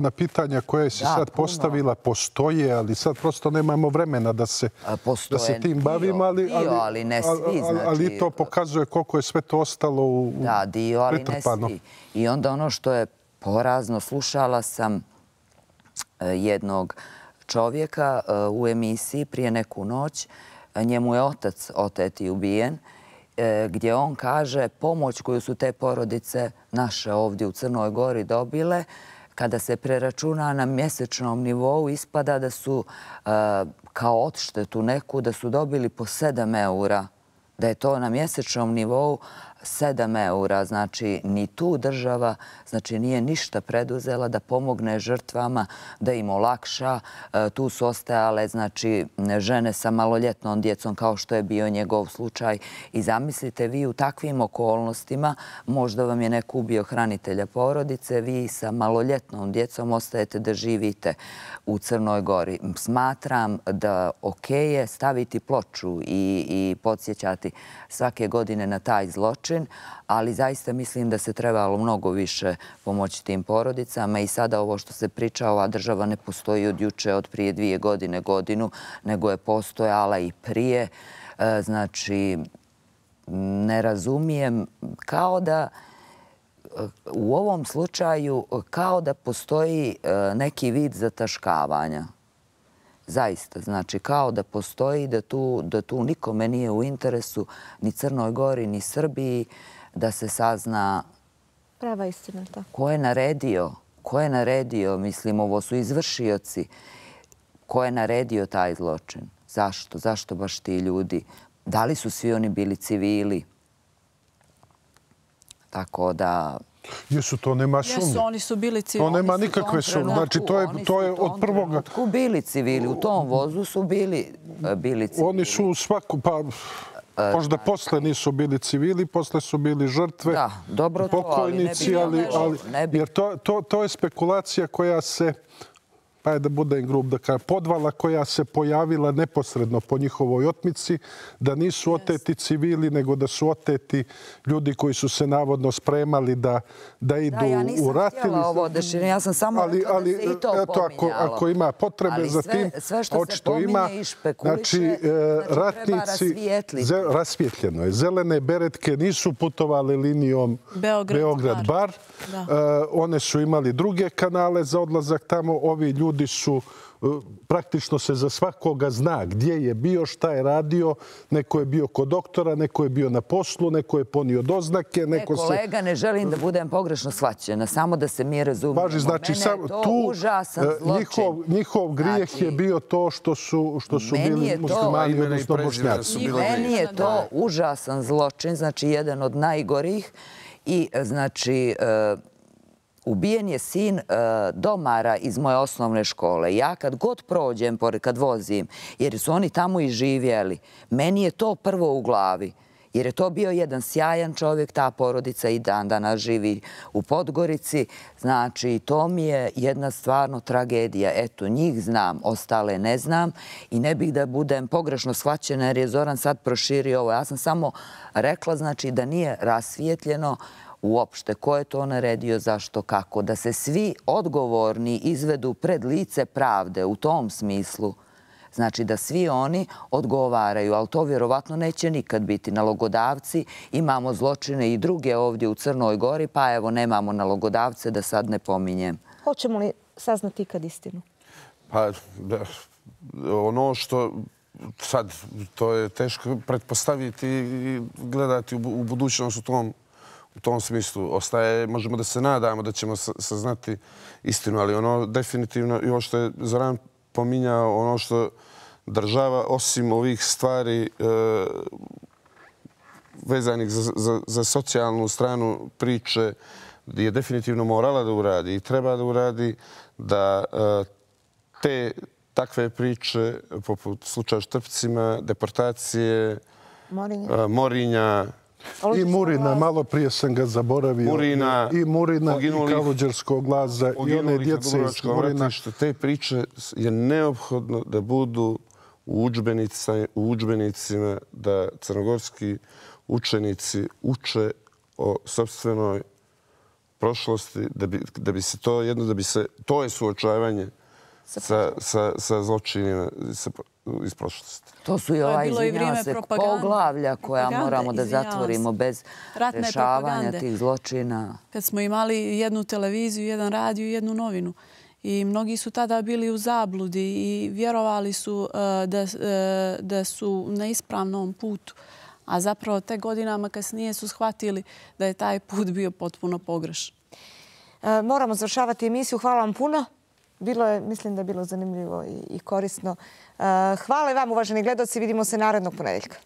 na pitanja koje si sad postavila postoje, ali sad prosto nemamo vremena da se tim bavimo. Dio, ali ne svi. Ali to pokazuje koliko je sve to ostalo pretrpano. Da, dio, ali ne svi. I onda ono što je porazno, slušala sam jednog čovjeka u emisiji prije neku noć, njemu je otac otet i ubijen, gdje on kaže pomoć koju su te porodice naše ovdje u Crnoj Gori dobile, kada se preračuna na mjesečnom nivou, ispada da su kao odštetu neku, da su dobili po sedam eura, da je to na mjesečnom nivou sedam eura. Znači, ni tu država nije ništa preduzela da pomogne žrtvama, da im olakša. Tu su ostajale žene sa maloljetnom djecom, kao što je bio njegov slučaj. I zamislite, vi u takvim okolnostima, možda vam je neko ubio hranitelja porodice, vi sa maloljetnom djecom ostajete da živite u Crnoj Gori. Smatram da ok je staviti ploču i podsjećati svake godine na taj zločin, ali zaista mislim da se trebalo mnogo više pomoći tim porodicama i sada ovo što se priča, ova država ne postoji od juče, od prije dvije godine, godinu, nego je postojala i prije. Znači, ne razumijem, kao da u ovom slučaju kao da postoji neki vid zataškavanja. Zaista, znači kao da postoji da tu nikome nije u interesu, ni Crnoj Gori, ni Srbiji, da se sazna prava istina. Ko je naredio, ko je naredio, mislim, ovo su izvršioci, ko je naredio taj zločin? Zašto? Zašto baš ti ljudi? Da li su svi oni bili civili? Tako da... Jesu, to nema sumnje. Jesu, oni su bili civili. To nema nikakve sumnje. Znači, to je od prvoga... Oni su bili civili. U tom vozu su bili civili. Oni su u svaku... Pa, možda posle nisu bili civili, posle su bili žrtve, pokojnici, ali... Jer to je spekulacija koja se... pa je da budem grub, da kažem, podvala koja se pojavila neposredno po njihovoj otmici, da nisu oteti civili, nego da su oteti ljudi koji su se navodno spremali da idu u rat. Da, ja nisam htjela ovo dešenje, ja sam samo rekla da se i to pominjalo. Ako ima potrebe za tim, očito ima. Znači, ratnici, rasvjetljeno je. Zelene beretke nisu putovali linijom Beograd-Bar. One su imali druge kanale za odlazak tamo. Ovi ljudi Ljudi su, praktično se za svakoga zna gdje je bio, šta je radio. Neko je bio kod doktora, neko je bio na poslu, neko je ponio doznake. Ne, kolega, ne želim da budem pogrešno shvaćena, samo da se mi razumijemo. Važi, znači, tu njihov grijeh je bio to što su bili muslimani, odnosno Bošnjaci. Meni je to užasan zločin, znači jedan od najgorih i znači... Ubijen je sin domara iz moje osnovne škole. Ja kad god prođem, kad vozim, jer su oni tamo i živjeli, meni je to prvo u glavi. Jer je to bio jedan sjajan čovjek, ta porodica i dan danas živi u Podgorici. Znači, to mi je jedna stvarno tragedija. Eto, njih znam, ostale ne znam i ne bih da budem pogrešno shvaćena jer je Zoran sad proširio ovo. Ja sam samo rekla, znači, da nije rasvijetljeno uopšte ko je to naredio, zašto, kako. Da se svi odgovorni izvedu pred lice pravde u tom smislu. Znači da svi oni odgovaraju, ali to vjerovatno neće nikad biti. Nalogodavci, imamo zločine i druge ovdje u Crnoj Gori, pa evo nemamo nalogodavce, da sad ne pominjem. Hoćemo li saznati ikad istinu? Pa, ono što sad, to je teško pretpostaviti i gledati u budućnost u tom u tom smislu. Ostaje, možemo da se nadamo da ćemo saznati istinu, ali ono definitivno, i ovo što je Zoran pominjao, ono što država, osim ovih stvari vezanih za socijalnu stranu priče, je definitivno morala da uradi i treba da uradi da te takve priče, poput slučaja Štrpcima, deportacije, Morinja, i Murina, malo prije sam ga zaboravio. Murina, i Murina, i Kaluđerskog glaza, i one djece iz Murina. Te priče je neophodno da budu u udžbenicima, da crnogorski učenici uče o sopstvenoj prošlosti, da bi se to jedno, da bi se, to je suočavanje sa zločinima iz prošlosti. To su i ova, izvinjava se, poglavlja koja moramo da zatvorimo bez rešavanja tih zločina. Kad smo imali jednu televiziju, jedan radio i jednu novinu. I mnogi su tada bili u zabludi i vjerovali su da su na ispravnom putu. A zapravo te godinama kasnije su shvatili da je taj put bio potpuno pogrešan. Moramo završavati emisiju. Hvala vam puno. Bilo je, mislim da je bilo zanimljivo i korisno. Hvala i vam, uvaženi gledaoci. Vidimo se narednog ponedeljka.